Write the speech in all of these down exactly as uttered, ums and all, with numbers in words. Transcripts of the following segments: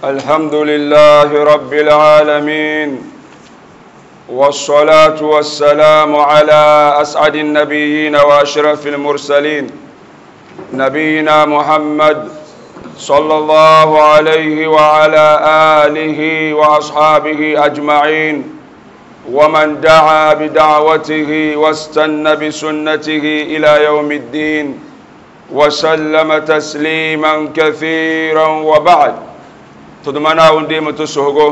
الحمد لله رب العالمين والصلاة والسلام على أسعد النبيين وأشرف المرسلين نبينا محمد صلى الله عليه وعلى آله وأصحابه أجمعين ومن دعا بدعوته واستنى بسنته إلى يوم الدين وسلم تسليما كثيرا وبعد تدمنا ونديم تسهجو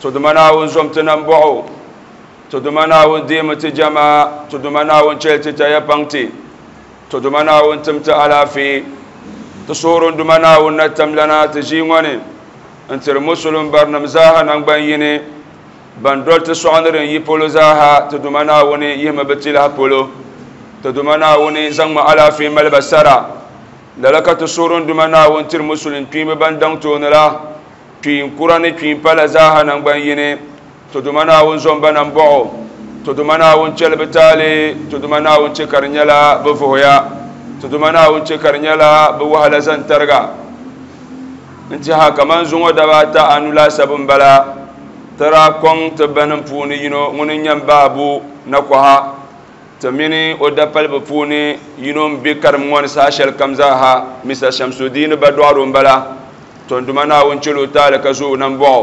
تدمنا ونزمتنا نبعو تدمنا ونديم تجمع تدمنا ونشلت تيبانتي تدمنا ونتمت على في تصور دمنا ونتم لنا تجيوني انت المسلم برنمزاها نبيني بندول تسوانرين يبولو زاها تدمنا وني يهم بتلها بولو تدمنا وني زنم على في ملبسرا لك تصور دمنا ونتر مسلم تيم بندون تونلا تيم قراني تيم بلا زاها نبيني تدمنا ونزوم بنبعو تدمنا ونشل بتالي تدمنا ونشكرنيلا بفهيا تدمنا ونشكرنيلا بوهلا زنترغا انتها كمان زنو دباتا انولا سبن بلا ترى كون تبنم پوني ينو ŋuni بابو نكوها تمني ودبل بپوني ينو بكرم ŋون ساشل كمزاها مثل شمس الدين بدوارون بلا تندمنا ونشلو تالك زو نمبو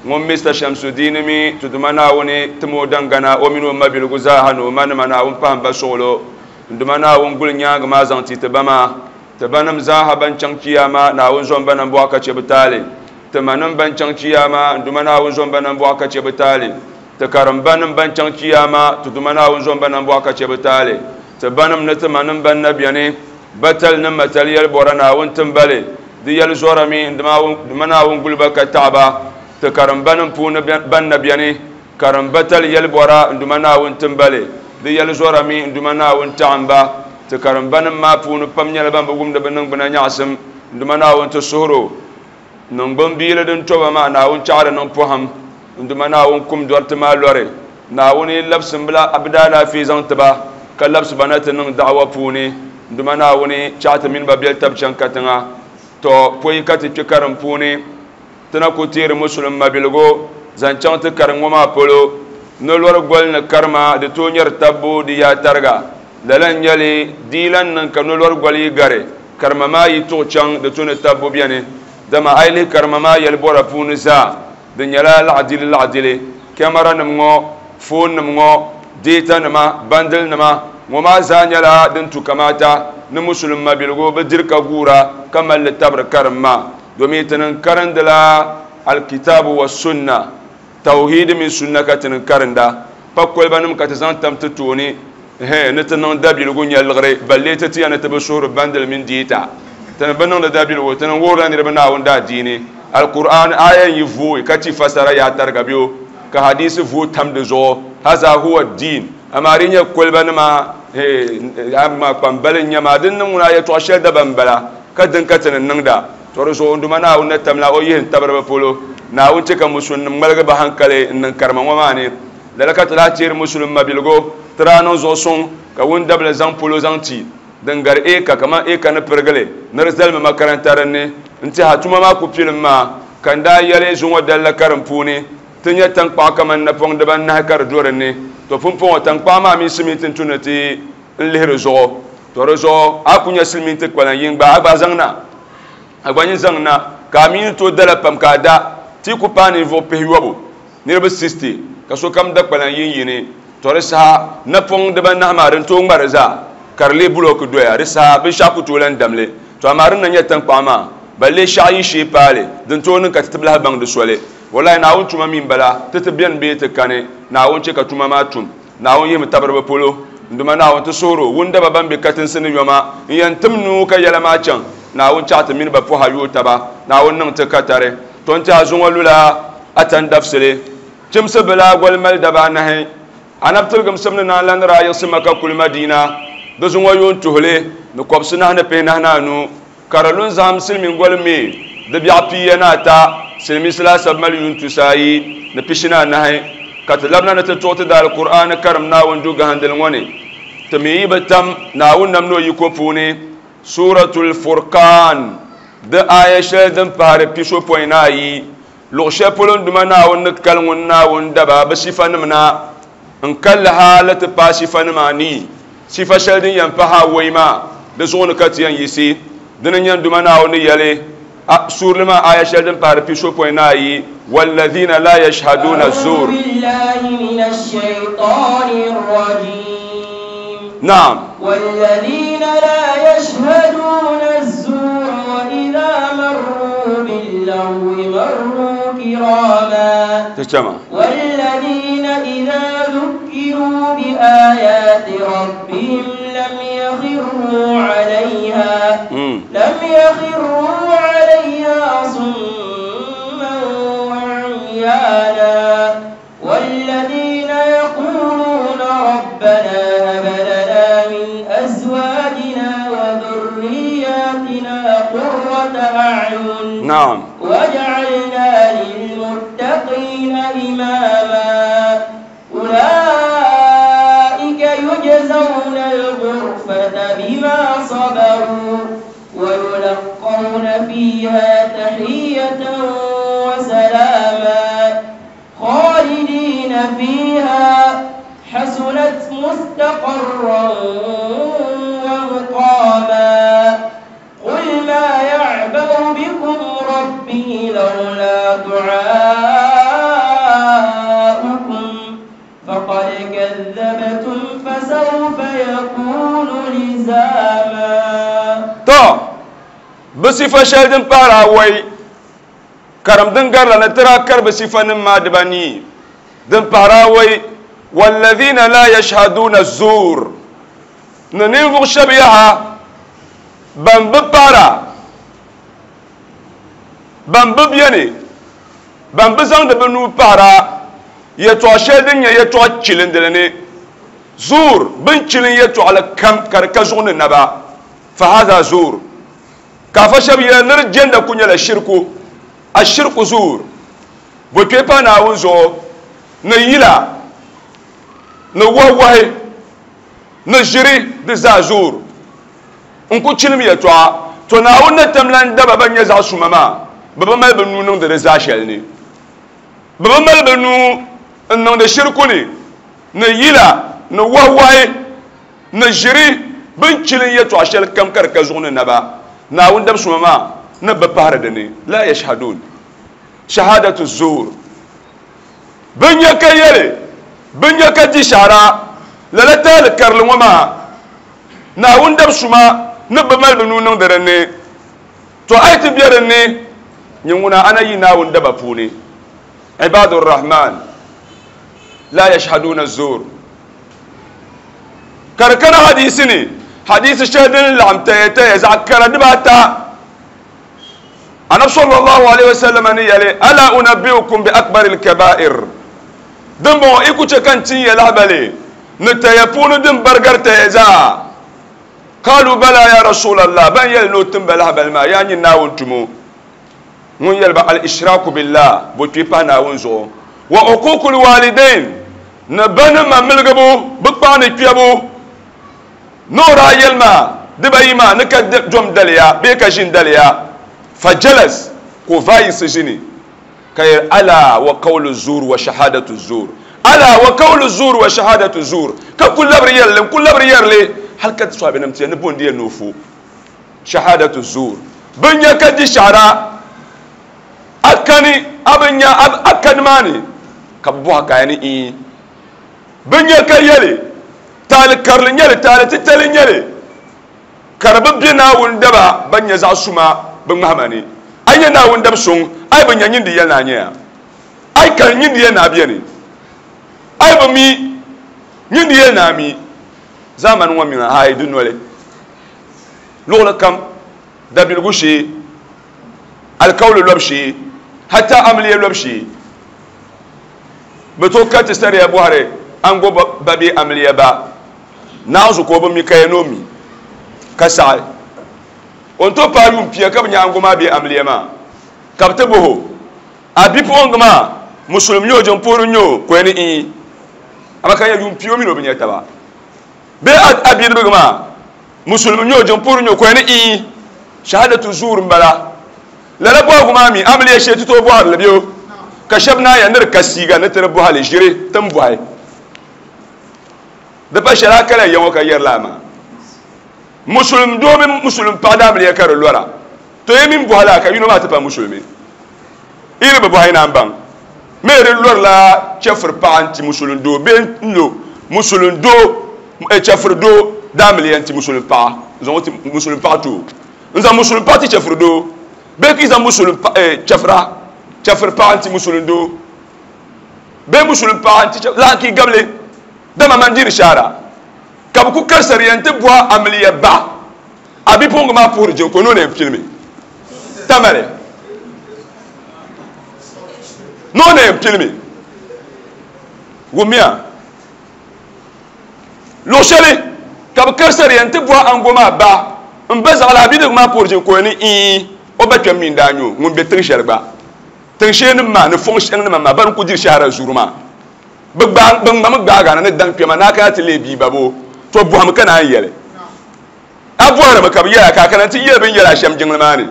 ŋun Mister Shamsuddin mi tudumana woni timo dangana o mini o mabiligu zaaha ni o manima Naawuni pahim ba suɣulo nduma Naawuni guli nyaanga maa zaŋ ti tiba maa tibanim zaaha ban chaŋ chiyaama Naawuni zom ba nambɔɣu ka che bi taali timanim ban chaŋ chiyaama nduma Naawuni zom ba nambɔɣu ka che bi taali ti karimbanim ban chaŋ chiyaama tuduma Naawuni zom ba nambɔɣu ka che bi taali tibanim ni timanim ban na beni batali ni matali yɛli bɔra Naawuni timbali di yɛli zɔra mi nduma Naawuni guli ba ka taɣaba ti karimbanim puuni ban na beni karimbatali yɛli bɔra nduma Naawuni timbali di yɛli zɔra mi nduma Naawuni taɣimba ti karimbanim maa puuni pam nyɛla ban bi wumdi bi niŋgbuna nyaɣasim nduma Naawuni ti suhuro niŋgbun biili din toba maa Naawuni chaɣari niŋ pɔhim nduma Naawuni kum dɔriti maa lɔri Naawuni labisi bila bi daalaafee zaŋ tiba ka labisi ba na ti niŋ daɣawa puuni nduma Naawuni chaɣa ti mini ba beli tabi chaŋ katiŋa to pɔi ka ti kpe karim puuni tina ku teeri musulum mabiligu zaŋ chaŋ ti karim ŋɔ maa polo ni lɔri goli ni karima di tooi nyɛri tabbu di yaa tariga lala n nyɛli diilan niŋ ka ni lɔri goli yi gari karima maa yi tuɣi chaŋ di to ni tabbu beni dama a yi lihi karima maa yɛli bɔra puuni zaa di nyɛla laɣadili laɣadili kamara nim ŋɔ foon nim ŋɔ deeta nima bandili nima ŋɔ maa zaa nyɛla din tu kamata ni musulum mabiligu bi diri ka guura ka mali li tabiri karim maa domin tinin karindila alkitabu wa sunna tauhidi min sunna ka tinin karinda pa kolba nim ka ti zaŋ tam ti tooni ni ti niŋ dabiligu nyɛliɣiri balle ti tiya ni ti bi suhuri bandili mini deeta tini bi niŋdi dabiligu tini wuhurila niriba Naawuni daa diini alqur'an aya yi vooi ka ti fasara yaa tariga bɛ ka hadisi vooi tam di zuɣu haza huwa diin amaa di nyɛ kolba nima ama kpambali n nyɛ maa din niŋ ŋuna yɛltɔɣa shɛli dabam bala ka din ka tini niŋda to di zuɣu nduma Naawuni na tamla o yihi n tabiri bi polo Naawuni che ka musulumnim ŋmaligi ba hankali n niŋ karima ŋɔ maa ni lala ka ti lahi teeri musulum mabiligu ti daa niŋ zuɣu suŋ ka wundabili zaŋ polo zaŋ ti din gari eka kaman eka ni pirigili ni di zalimi makaranta dinni n tiɛha tuma maa ku pilim maa ka n daa yɛli zuŋɔ dalla karim puuni ti nyɛ tankpaɣu kaman napɔŋ dibanahi ka di do dinni to pumpɔŋɔ tankpaɣu maa mini siminti n tu ni ti n lihiri zuɣu to di zuɣu a ku nyɛ silimiinti kpalan yin gba a gba zaŋ na a gba nyin zaŋ na ka a mi ni tooi dala pam ka a da ti ku paai ninvuɣu pihi yobu niriba sixty ka sokam da kpalan yin yini to di saha napɔŋ dibanahi maa din tooi ŋmari zaa ka di lee bulooki doya di saha binshaɣu ku tooi lan damli to amaa din na nyɛ tankpaɣu maa ba lee shɛɣu yi shee paali din tooi niŋ ka ti ti lahi baŋ di soli wallahi Naawuni tuma mi n bala ti ti beni bee ti kani Naawuni che ka tuma maa tum Naawuni yihimi tabiri bi polo nduma Naawuni ti suhuro wundaba ban be katinsi ni yoma n yɛn tim nuu ka yɛla maa chaŋ Naawuni chaɣa ti mini ba pɔha yooi taba Naawuni niŋ ti katari to n tiɛha zuŋɔ lula atan dabisili chimsi bila goli mali daba anahi anabi tiligim simni naan la ni daa yiɣisi Maka kuli Madina di zuŋɔ yuun tuhili ni kɔbisi nahi ni pihi nahi ni anu ka di lu n-zahim silimiin goli mi di biɛɣu piya ni ata silimiinsi laasabu mali yuun tusa ayi ni pishi ni anahi ka ti labina ni ti tuɣi ti daali Qur'an karim Naawuni du gahindili ŋɔ ni ti mi yi bi tam Naawuni nam ni o yiko puuni Suratul Furqan Di aya shɛli din pahari pisopɔin ni ayi luɣu shɛli polo n duma Naawuni ni kali ŋun Naawuni daba bi sifanima na n kalli haali ti paai sifanima anii sifa shɛli din yɛn pahi awɔi maa di zuɣu ni ka ti yɛn yiɣisi dini n-nyɛ n duma Naawuni ni yɛli suurili maa aya shɛli din pahari pisopɔin ni ayi walladhina la yashhaduna zur. نعم. والذين لا يشهدون الزور وإذا مروا باللغو مروا كراما. تجمع. والذين إذا ذكروا بآيات ربهم لم يخروا عليها مم. لم يخروا عليها صما وعميانا. والذين يقولون ربنا هب لنا من أزواجنا وذرياتنا قرة أعين نعم واجعلنا للمتقين إماما. أولئك يجزون الغرفة بما صبروا ويلقون فيها تحية وسلاما خالدين فيها حسنت مستقرا ومقاما. قل ما يعبأ بكم ربي لولا دعاؤكم فقد كذبتم فسوف يكون لزاما. To bi sifa shɛli din pahari awɔi karim din garila ni tira kari bi sifanim maa dibanii din pahari awɔi walladhina la yashhaduna zur ni ninvuɣu shɛba yaha ban bi pahara ban bi beni ban bi zaŋdi bi nuu pahara yɛltɔɣa shɛli din nyɛ yɛltɔɣa chilindili ni zur bin chilin yɛltɔɣali kam ka di ka zuɣu ni naba fa hadha zur ka afa shɛba yɛli ni di jɛnda ku nyɛla shirku ashirku zur bo kpe pa Naawuni zuɣu ni yila ni wahi ni ʒiri di zaa zur n ku chilim yɛltɔɣa to Naawuni ni tamlan daba ban nyɛ zaɣ suma maa bi bi mali bi nuu niŋdi di zaa shɛli ni bi bi mali bi nuu n niŋdi shirku ni ni yila ni wahi ni ʒiri bin chilin yɛltɔɣa shɛli kam ka di ka zuɣu ni naba Naawuni dab suma maa ni bi pahari dini la yashhadun shahadatu zur bin nya ka yɛli bin nya ka di shahara lala taali karili ŋɔ maa Naawuni dab suma ni bi mali bi nuu niŋdi dinni to a yi ti bɛ dinni nyɛ ŋuna ana yi Naawuni daba puuni ibadur rahman la yashhaduna zur ka di kana hadisi ni hadisi shɛli din laɣim taya taya zaɣ kara dibaata Annabi sallallahu alayhi wa sallam ni yɛli ala unabbiukum bi akbaril kaba'ir din bɔŋɔ i ku chɛ ka n tin ya lahabali ni taya puuni din barigari taya zaa qalu bala ya rasulallah ban yɛli ni o tin ba lahabali maa yaa nyin Naawuni tumo ŋun yɛli ba al ishraku billah bo kpe pahi Naawuni zuɣu wa uququl walidain ni ba ni ma miligibu bi kpaɣa ni kpɛbu ni o daa yɛli maa dibayi maa ni ka dom daliya bee ka ʒini daliya fajalas ko vaayisi ʒini ka yɛli ala wa qawlu zur wa shahadatu zur ala wa qawlu zur wa shahadatu zur ka ku labiri yɛlli n ku labiri yɛrili hali ka ti sɔhibinim ti yɛli ni bondi yɛli ni o fo shahadatu zur bin nya ka di shahara a kani a bi nya a kani maa ni ka bi bɔhi ka ya ni ii bin nya ka yɛli taali karili nyɛli taali titali nyɛli ka di bi bɛ Naawuni daba ban nyɛ zaɣ suma bi ŋmahima ni a nyɛ Naawuni dab suŋ a yi bi nya nyindi yɛli ni a nyɛya a yi kani nyindi yɛli ni a bɛni a yi bi mi nyindi yɛli ni a mi zamani ŋɔ mi ha yi di noli luɣuli kam dabiligu shee alikawli lɔbu shee hatta amiliya lɔbu shee bi tooi ka ti sariya bɔhiri ango ba bee amiliya ba naanzu ka o bi mi ka ya ni o mi ka saɣi o ni tooi paai yuun pia ka bi nya ango maa bee amiliya maa ka bi ti bihi o a bipuɣingi maa musulum nyɛ o jiŋpuhiri nyɛ o ka o ni ii ama ka nya yuun pia o mini o bi nya taba bee a bidibigi maa musulum nyɛ o jiŋpuhiri nyɛ o ka o ni ii shahadatu zur n bala Lala bɔhigu maa mi amiliya shee ti tooi bɔhiri li bɛ ka shɛba naan ya ni di ka siiga ni ti di bɔhili ʒiri ti ni bɔhi. Di pa shɛli a kala ya ŋɔ ka yɛri laa maa. Musulum doo mini musulum paɣa daa amiliya ka di lɔra. To yi mini bɔhi laa ka yino maa ti pa musulumi. Yi ni bi bɔhi naan baŋ. Mi di lɔrila chɛfiri paɣa n-ti musulum doo bee n-lo musulum doo chɛfiri doo daa amiliya n-ti musulum paɣa n-zaŋ o ti musulum paɣa ti o. N-zaŋ musulum paɣa ti chɛfiri doo bee ka yi zaŋ musulum chɛfira chɛfiri paɣa n-ti musulum doo bee musulum paɣa n-ti chɛfiri laa ka yi gabili dama man diri shaara ka bɛ ku karisariya n-ti bɔhi amiliya ba a bipuɣiŋga maa puhiri jiŋ ka o ni o na yɛn pilimi tamali ni o na yɛn pilimi wumiya luɣ shɛli ka bɛ karisariya n-ti bɔhi aŋgo maa ba n ba zaɣila a bidibigi maa puhiri jiŋ ka o ni ii o ba kpɛm mi n-daa nyɛ o ŋun be tiŋ shɛli gba tiŋ sheenima maa ni fɔŋ shɛŋnima maa bani ku diri shahara zuri maa bɛ ŋmami gbaagana ni daŋ kpɛma ni a kana ti leei bia babo to bɔhimi ka naan yɛli a bɔhirimi ka bɛ yɛla ka a kana ti yɛli bɛ ni yɛli a shɛm jiŋli maa ni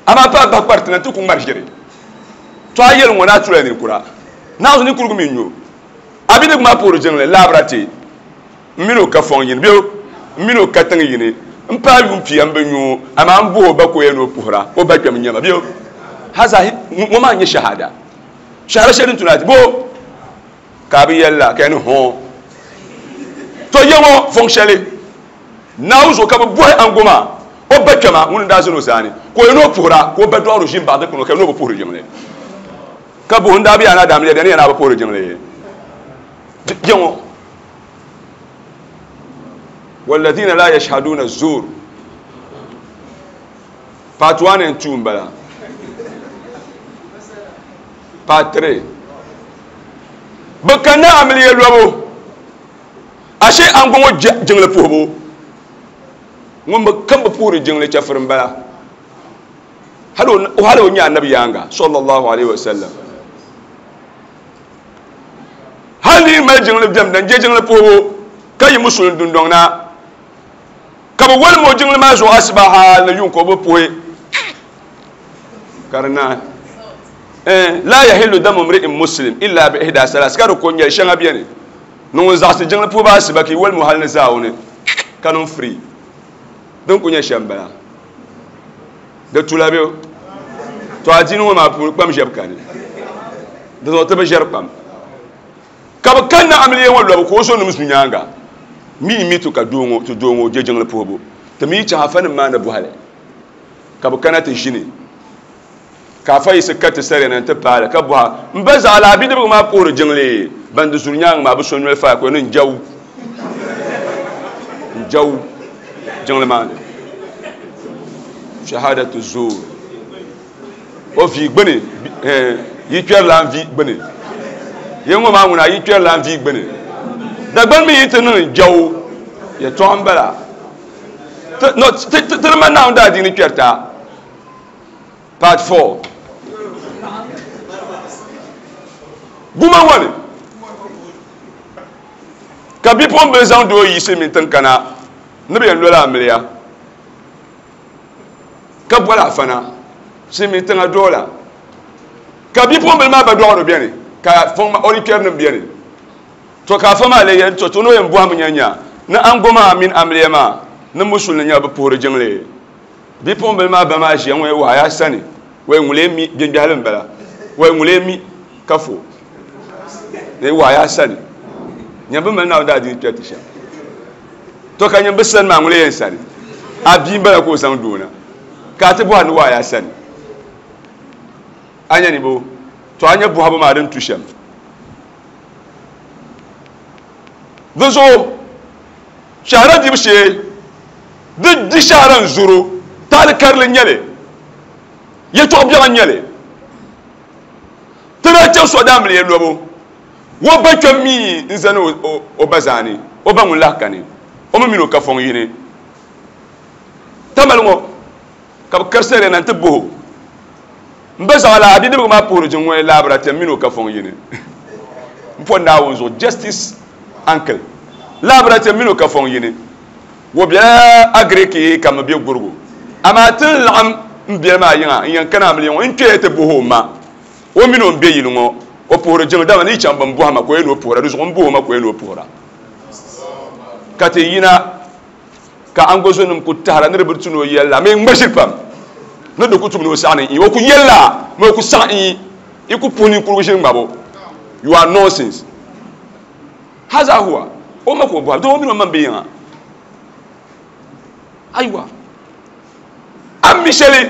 amaa pa a bahi kpariti na nti ku ŋmari ʒiri to a yɛli ŋɔ ni a tula ninkura naawuni ninkurigu mi n-nyɛ o a bidibigi maa puhiri jiŋli laabira ti n mini o ka fɔŋ yini bee n mini o ka tiŋ yini n paai yuun pia n bi nyɛ o amaa n bɔhi o ba ka o yɛn ni o puhira o ba kpɛm n-nyɛ ma bee haza ŋɔ maa n-nyɛ shahada shahara shɛli din tuna ti bo ka a bi yɛli la ka yɛn ni hɔn to yɛ ŋɔ fɔŋ shɛli Naawuni zuɣu ka bɛ bɔhi aŋgo maa o ba kpɛma ŋuni n-daa zani o zaani ka o yɛn ni o puhira ka o ba dɔɣiri o ʒi m-baɣi dikpuni ka yɛn ni o bi puhiri jiŋli ka buhi n daa bi yaa ni a daamiliya bɛ ni yɛn ni a bi puhiri jiŋli yɛ ŋɔ walladhina la yashhaduna zur part one and two n-bala part three bɛ kanna amiliya lɔbu ashe aŋgo ŋɔ jiŋli puhibu ŋun bi kam bi puhiri jiŋli chɛfiri n-bala hali o nyɛ anabi yaaŋa sallallahu alaihi wasallam hali ni mali jiŋli bɛm dan je jiŋli puhibu ka yi musulin dundɔŋ na ka bi walim o jiŋli maa zuɣu asiba hali ni yuŋ ka o bi puhi ka di naai la yahillu damu mri'in muslim illa bi ihda salas ka di ko nyɛli shɛŋa bɛni ni ŋun zaɣisi jiŋli puhibu asiba ka yi walim o hali ni zaawuni ka niŋ free din ku nyɛ shɛm bala di tula bɛ to adiini ŋɔ maa puuni kpam ʒɛbu kani di zuɣu ti bi ʒɛri kpam ka bi kanna amiliya ŋɔ lɔbu ka o zo nim zu nyaanga mi mi tu ka doo ŋɔ ti doo ŋɔ je jiŋli puhibu ti mi chaŋ afa nim maa ni bɔhili ka bi kana ti ʒini ka afa yiɣisi ka ti sariya na n-ti paali ka bɔha n ba zaɣila a bidibigi maa puhiri jiŋli ban di zuri nyaanga maa bi so noli faai ka o ni n jawu n jawu jiŋli maa ni shahadatu zuur o vi gbuni yi kpɛrila n vi gbuni ye ŋɔ maa ŋuna yi kpɛrila n vi gbuni Dagbani mi yi ti niŋ jawu yɛltɔɣa n-bala ti di ma Naawuni daa diini kpɛrita part four guma ŋɔ ni ka bipuɣimbila zaŋ doo yiɣisi mini tiŋ kana ni bɛ yɛn lola amiliya ka bɔli afana silimiin tiŋa doola ka bipuɣimbila maa ba dɔɣiri bɛni ka o ni kpɛrinim bɛni to ka afa maa lee yɛli to to ni o yɛn bɔhimi nya nya ni aŋgo maa mini amiliya maa ni musulini nyɛla bɛ puhiri jiŋli bipuɣimbila maa ba maa ʒiya ŋɔ wahi a sani wai ŋulee mi gbɛngbɛhili n-bala wai ŋulee mi ka fo ni wahi a sani nyɛ bɛ mali Naawuni daa diini kpɛriti shɛm to ka nyɛ bɛ sani maa ŋulee yɛn sani a bia n-bala ka o zaŋ doo na ka a ti bɔhiri ni wahi a sani a nya ni bo to a nya bɔhibu maa din tu shɛm di zuɣu shahara dibu shee di di shahara n-zoro taali karili n-nyɛli yɛltɔɣa biɛɣu n-nyɛli ti daa chaŋ sɔda amiliya lɔbu o ba kpɛm mi n-zani o ba zaani o ba ŋun lahi kani o mi mini o ka fɔŋ yini tamali ŋɔ ka bɛ karisariya na nti bɔhi o n ba zaɣila a bidibigi maa puhiri jiŋ ŋɔ laabira ti mini o ka fɔŋ yini n po Naawuni zuɣu justice uncle laabira ti mini o ka fɔŋ yini wo bela agiriki ka mi be gurigu amaa ti ni laɣim N biɛli maa yiŋa n yɛn kana amiliya ŋɔ n kpɛya ti buhi o ma o mini o n be yili ŋɔ o puhiri jiŋli dama ni yi chaŋ bin bɔhima ka o yɛn ni o puhira di zuɣu n buhi o ma ka o yɛn ni o puhira ka ti yina ka angozonim ku tahira ni di bi tu ni o yɛlila mi ŋma ʒiri pam ni di ku tum ni o saɣa ni n o ku yɛlila mi o ku saɣa n i ku puhi ninkurigu ʒiri ŋmabo. You are nonsense. Haza huwa o ma ka o bɔhi doo mini o ma n be yiŋa aywa an mi shɛli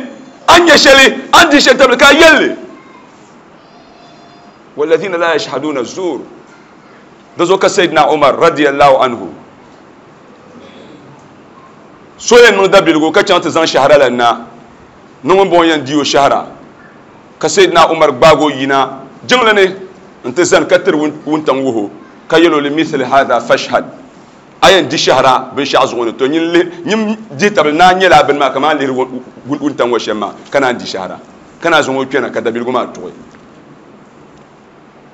an nyɛ shɛli an di shɛli tabili ka a yɛlli walladhina la yashhaduna zur da zo ka Sayyidina Umar radiyallahu anhu so yɛn niŋ dabiligu ka chaŋ ti zaŋ shahara la na ni ŋun bɔŋɔ yɛn di o shahara ka Sayyidina Umar gbaagi o yina jiŋli ni n ti zani ka tiri wuntaŋ wuhu ka yɛl o li mithli hadha fashhad a yɛn di shahara binshaɣu zuɣu ni to nyin dihi tabili naa nyɛla bini maa kamani lihiri wuntaŋ ŋɔ shɛm maa ka naan di shahara ka naan zaŋ o kpɛna ka dabiligu maa tuɣi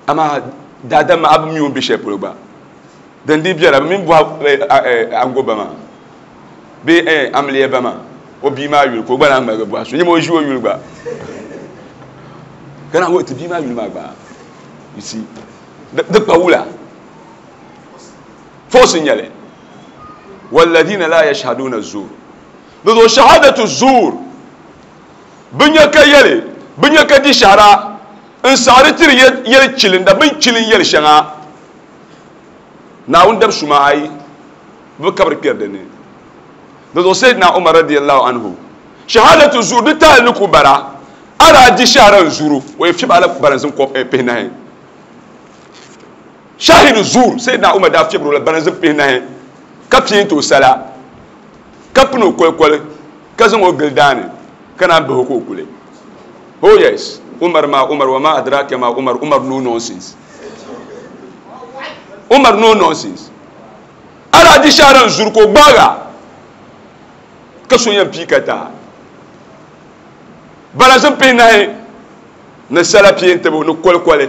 amaa daadam maa a bi mi o ni be shɛli polo gba din di biɛla bi mini bɔhi ango ba maa bee amiliya ba maa o bia maa yuli ka o gba naan ŋmaligi bɔhi so nyɛma o ʒi o yuli gba ka naan ti bia maa yuli maa gba you see di kpa wula fosi nyɛli walladhina la yashhaduna zur di zuɣu shahadatu zur bi nya ka yɛli bi nya ka di shahara n saɣari tiri yɛli chilinda bin chilin yɛli shɛŋa Naawuni dab suma ayi bi kabiri kpɛri dinni di zuɣu Sayyidina Umar radiyallahu anhu shahadatu zur di taali ni ku bara a daa di shahara n zuru o yɛ fiɛbi ala baranzim pihinahi shahidu zur Sayyidina Umar daa fiɛbiri o la baranzim pihinahi ka piɛnti o sala ka pini o kolikoli ka zaŋ o gili daani ka naan bahi o ka o kuli. Oh yes, Umar ma Umar wa ma adraka ma Umar. Umar no nonsense. Umar no nonsense. Ala di shahara n zuru ka o gbaaga ka so yɛn pii ka taa baranzim pihinahi ni sala piɛntibu ni kolikoli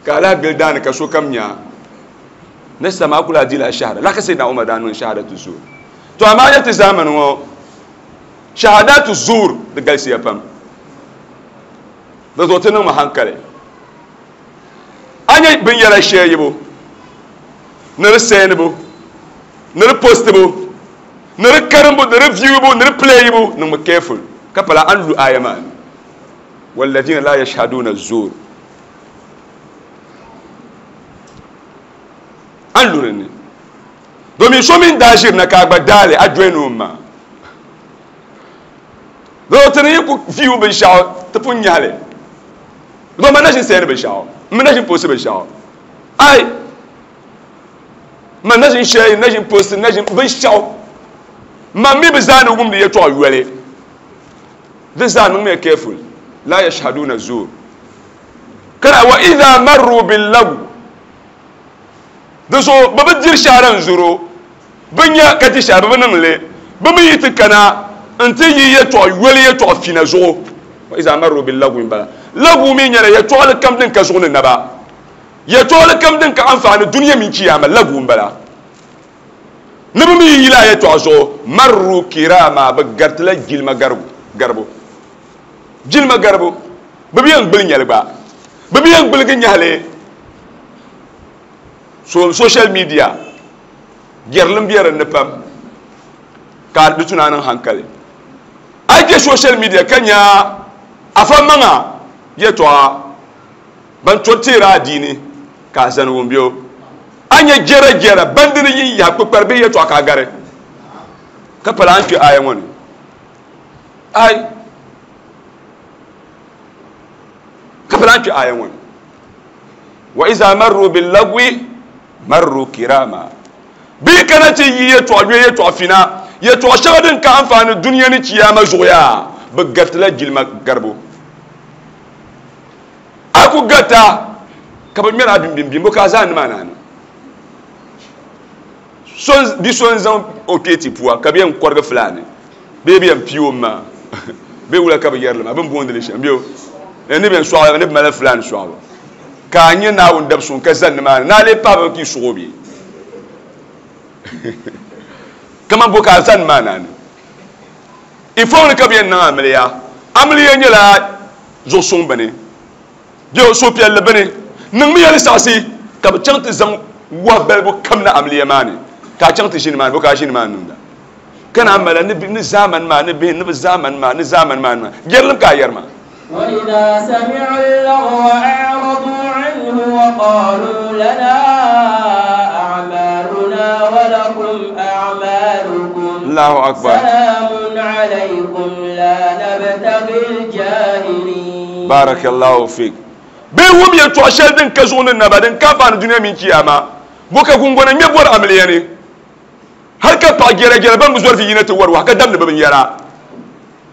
ka ala gili daani ka sokam nya ni sama kula di la shahara la ka Sayyidina Umar daa niŋ shahadatu zur to amaa nyɛ ti zamani ŋɔ shahadatu zur di galisiya pam di zuɣu ti niŋmi hankali a nyɛ binyɛra shɛyibu ni di sɛnibu ni di postibu ni di karimbu ni di viewbu ni di playibu niŋmi careful ka pala an lu aya maa ni walladhina la yashhaduna zur an lu dinni domin so min daa ʒiri na ka a gba daali a join o ma do ti ni yi ku view binshaɣu ti pun nyahali do ma na ʒin sɛni binshaɣu n mi na ʒin posti binshaɣu ai ma na ʒin share na ʒin posti na ʒin binshaɣu ma mi bi zaa ni wumdi yɛltɔɣa yoli di zaa niŋmiya careful la yashhaduna zur kana wa idha marru bil-lagw di zuɣu bi bi diri shahara n zuro bi nya ka di shahara bi bi niŋ li bi mi yi ti kana n ti yi yɛltɔɣa yoli yɛltɔɣa fina zuɣu wa idha marru bil-lagwi n bala lagwu mi nyɛla yɛltɔɣali kam din ka zuɣu ni naba yɛltɔɣali kam din ka anfaani duniya mini kiyama lagwu n bala ni bi mi yi yila yɛltɔɣa zuɣu marru kirama bi garitila jilima garibu jilima garibu bi bi yɛn gbuli nyɛli gba bi bi yɛn gbuligi nyahali so social media jɛrilim bɛ dinni pam ka di tuna niŋ hankali a yi kpɛ social media ka nya afa maŋa yɛltɔɣa ban to teeri adiini ka a zani wum bɛ a nyɛ jɛra jɛra bandini yin yaha kpukpari bee yɛltɔɣa ka a gari ka pala an kpɛ aya ŋɔ ni ai ka pala an kpɛ aya ŋɔ ni wa iza marru bil-lagwi marru kirama bi kana ti yi yɛltɔɣa yɔ yɛltɔɣa fina yɛltɔɣa shɛŋa din ka anfaani duniya ni kiyama zuɣu yaa bi garitila jilima garibu a ku garita ka bi ŋmɛri a bimbimbi bo ka a zaa nimaa naani bi so n zaŋ o kpee ti puwa ka bi yɛn kɔrigi filaani bee bi yɛn pii o maa bee wula ka bi yɛrili maa bin boondili shɛm bee ni bi yɛn sɔɣi ni bi mali filaani sɔɣibu ka a nyɛ Naawuni dab suŋ ka zani nimaani naa lee paɣaba ka yi suɣi o bee kaman bo ka a zani maa naani Ifɔŋ ni ka bi yɛn niŋ amiliya amiliya nyɛla zuɣu suŋ bini bɛ suhupiɛlli bini niŋmi yɛli saɣasi ka bi chaŋ ti zaŋ wahi balibu kam na amiliya maa ni ka a chaŋ ti ʒini maa ni bo ka a ʒini maa ni niŋda ka na mala ni ni zaamani maa ni bihi ni bi zaamani maa ni zaamani maa ni yɛrilim ka a yɛri maa. وإذا سمعوا اللغو أعرضوا عنه وقالوا لنا أعمالنا ولكم أعمالكم الله أكبر سلام عليكم لا نبتغي الجاهلين بارك الله فيك bee wum yɛltɔɣa shɛli din ka zuɣu ni naba din ka faani dunia mini kiyama bo ka gungona ŋmɛ bɔri amiliya ni hali ka paɣa gɛrɛ gɛrɛ ban bi zɔri fi yina ti wari wahi ka damdi bi binyɛra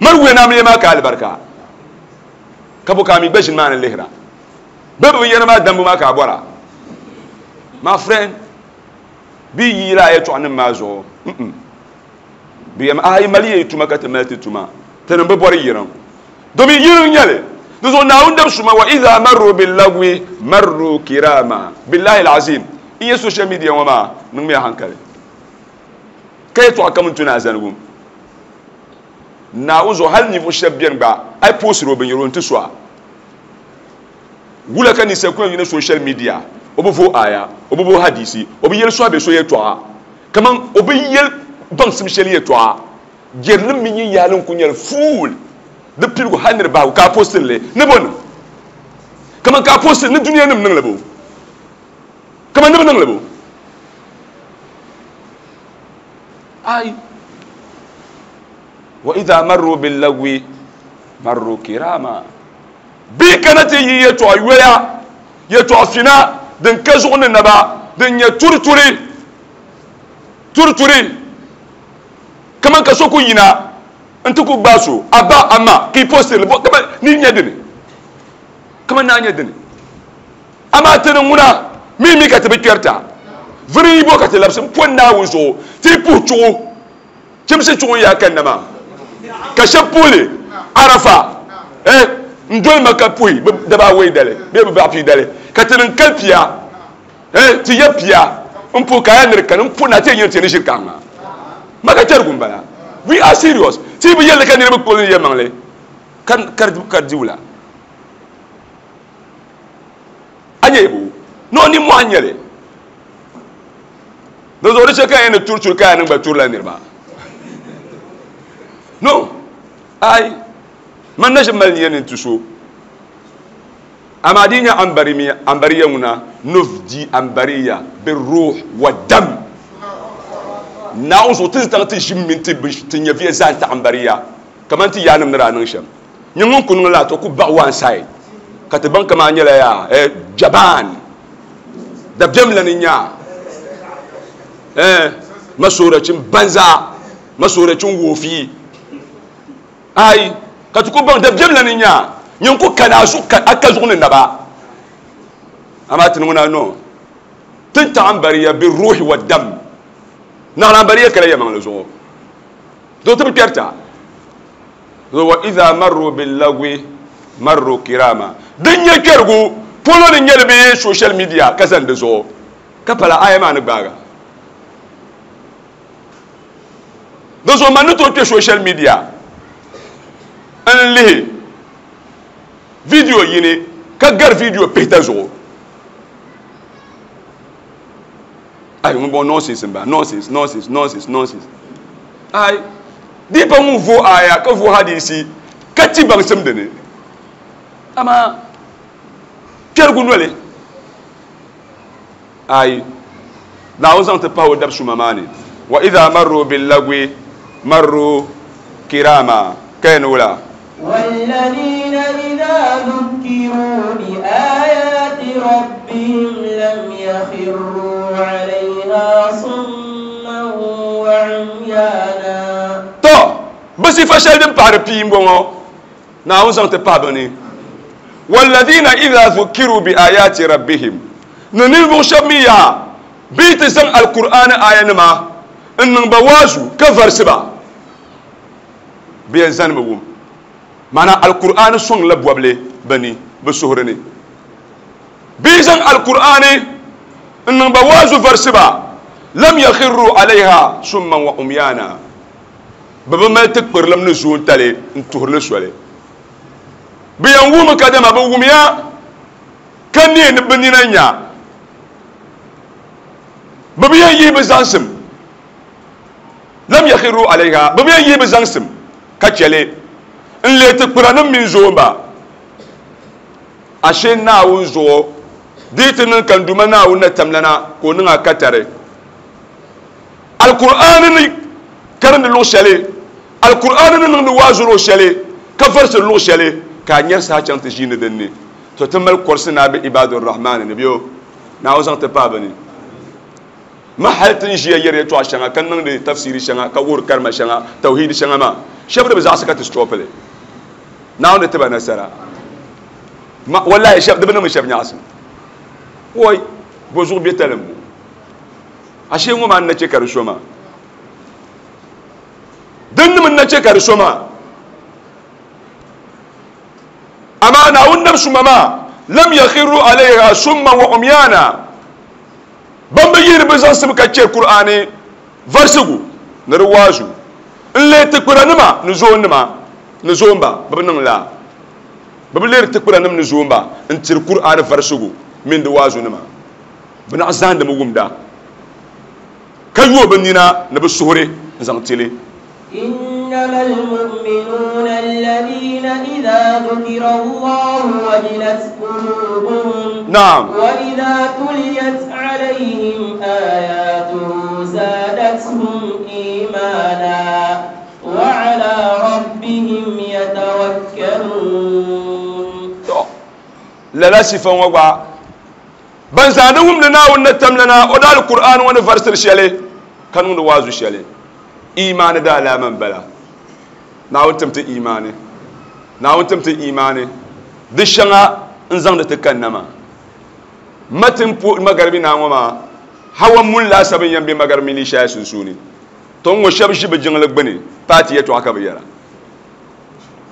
mali wuya ni amiliya maa ka alibarika ka bo ka a mi gba ʒini maa ni lihira bɛ bi binyɛra maa dambu maa ka a bɔra. My friend, bi yi la yɛltɔɣa nim maa zuɣu bi yɛm a yi mali yɛ tuma ka ti mali ti tuma ti nim bi bɔri yiriŋ domin yiriŋ nyɛli dizuɣu Naawuni dab suma wa idha marru billagwi marru kirama billahi alazim n yɛ social media ŋɔ maa niŋmiya hankali ka yɛltɔɣa kam n tuni a zanigu Naawuni zuɣu hali ninvuɣu shɛba bɛni gba a yi poosiri o binyɛra o n ti so a wula ka ninsal ku yɛn yina social media o bi vo aya o bi vo hadisi o bi yɛli so a bɛ so yɛltɔɣa kaman o bi yɛli baŋsim shɛli yɛltɔɣa jɛrilim mini yin n ku nyɛli fuul di piligu hali ni di bahigu ka a postiri li ni bo niŋ kaman ka a postiri ni dunia nim niŋli bo kaman ni bi niŋli bo ai wa idha marru billagwi marru kirama bi kana ti yi yɛltɔɣa yoya yɛltɔɣa fina din ka zuɣu ni naba din nyɛ turituri turituri kaman ka so ku yina n ti ku gbaai so a ba a ma ka i postiri bo kaman ni nyɛ dini kaman naa nyɛ dini amaa ti ni ŋuna mi mi ka ti bi kpɛrita viri yi bo ka ti labisi n pɔ Naawuni zuɣu ti yi puhi chuɣu chimsi chuɣu n yaa kanna maa ka shɛba puhili Arafa eh n doli ma ka puhi bi daba awei dali bee bi baɣa pii dali ka ti niŋ kali pia eh ti yɛ pia n puhi ka yaa ni di kani n puhi na ti yɛn nyɛ ti ni ʒiri kaŋ maa ma ka kpɛrigu n bala. We are serious. Ti bi yɛlli ka niriba kpuɣili ni yɛlimaŋli ka ka di wula a nyɛ bo no ni mɔɣu nyɛli di zuɣu di chɛ ka yɛn ni turi turi ka yaa niŋ gba turila niriba no ai man na ʒi mali niya ni n ti so amaa di nyɛ ambariya ŋuna nufdi ambariya biruh wa dam Naawuni zuɣu ti zaŋ ti ʒim mini ti ti nyɛviya zaa n-ti ambariya kaman ti yaanim ni daa niŋ shɛm nyɛ ŋun ku niŋ laa to ku baɣi one side ka ti baŋ kaman a nyɛla yaa eh, jaban dabiɛm la ni nya eh, masoorachin banza masoorachin woofi ai ka ti ku baŋ dabiɛm la ni nya nyɛ ku kana a zuɣu a ka zuɣu ni naba amaa ti ni ŋuna no tin taɣ ambariya bi ruhi wa dam naɣila ambariya kala yɛmaŋli zuɣu do ti bi kpɛrita wa idha marru billagwi marru kirama din nyɛ kpɛrigu polo ni nyɛli bee social media ka zani di zuɣu ka pala aya maa ni gbaaga di zuɣu man ni tooi kpɛ social media n lihi video yini ka gari video pihita zuɣu ai ŋun bɔŋɔ nonsense n ba nonsense nonsense nonsense nonsense ai di pa ŋun vo aya ka vo hadisi ka ti baŋsim dini amaa kpɛrigu noli ai Naawuni zaŋ ti pahi o dab suma maa ni wa idha marru billagwi marru kirama ka yɛn wula والذين إذا ذكروا بآيات ربهم لم يخروا عليها صما وعميانا to bi sifa shɛli din pahari pii n-bɔŋɔ Naawuni zaŋ ti pahi bi ni والذين إذا ذكروا بآيات ربهم ni ninvuɣu shɛba mi yaa bɛ ti zaŋ alkur'ani aya nima n niŋ ba waazu ka varisi ba bɛ yɛn zani bi wum maana alkur'ani sɔŋ la bɔbili bi ni bi suhuri ni bɛ zaŋ alkur'ani n niŋ ba waazu varisi ba lam yakhiru alayha summan wa umyana Bɛ bi mali tikpirilim ni zoontali n-tuhiri li soli. Bɛ yɛn wuhimi kadama bɛ wumya ka neei ni bɛ nina nya. Bɛ bi yɛn yihi bɛ zaŋsim. Lam yakhiru alayha. Bɛ bi yɛn yihi bɛ zaŋsim ka chɛ li n-leei tikpiranim mini zoomba. Ashe Naawuni zuɣu di yi ti niŋ ka n Duuma Naawuni na tamlana ka o niŋ a katari. Alkur'aani ni karindi luɣ shɛli, Alkur'aani ni niŋdi waazu luɣ shɛli, ka varisiri luɣ shɛli, ka a nyari saha chaŋ ti ʒiini din ni. To ti mali kɔrisi ni a be Ibaadu Rahmaani ni bɛ o Naawuni zaŋ ti paai bɛ ni. Ma hali ti ni ʒiya yɛri yɛtɔɣa shɛŋa, ka niŋdi tafsiiri shɛŋa, ka wuhiri karima shɛŋa, tawhiidi shɛŋa maa, shɛba di bi zaɣisi ka ti stɔpi li. Naawuni di ti ba nasara. Ma, wallahi, shɛba, di bi niŋmi shɛba nyaɣisim. Woi, bɔ zuɣu bɛ talim ŋɔ? Ashee ŋɔ maa n-na che ka di so maa. Din nim n-na che ka di so maa. Amaa Naawuni nab suma maa, lam yakhiru alayha summan wa umyana. Ban bi yihiri bɛ zaŋsim ka che Kur'aani varisigu ni di waazu n-leei tikpiranima ni zoonnima ni zoomba, bɛ bi niŋ laa. Bɛ bi leeri tikpiranima ni zoomba n-tiri Kur'aani varisigu mini di waazunima. Bɛ naɣ zahindimi wumda ka yooi bɛ nina ni bɛ suhuri n-zaŋ ti li. إنما المؤمنون الذين إذا ذكر الله وجلت قلوبهم نعم وإذا تليت عليهم آياته زادتهم إيمانا وعلى ربهم يتوكلون. Lala sifa ŋɔ gba ban zaandi wumdi Naawuni ni tamlana o daa Alkur'aan ŋɔ ni varisiri shɛli ka niŋdi waazu shɛli. Imaani daa alaama m-bala. Naawuni tim ti imaani. Naawuni tim ti imaani. Di shɛŋa n-zaŋdi ti kanna maa. Ma ti n-puhi magaribi naa ŋɔ maa, hawa muni laasabu n-yɛn be magaribi mini Ishaya sunsuuni. To ŋ-ŋɔ shɛba ʒi bɛ jiŋli gbuni paati yɛtɔɣa ka bɛ yɛra.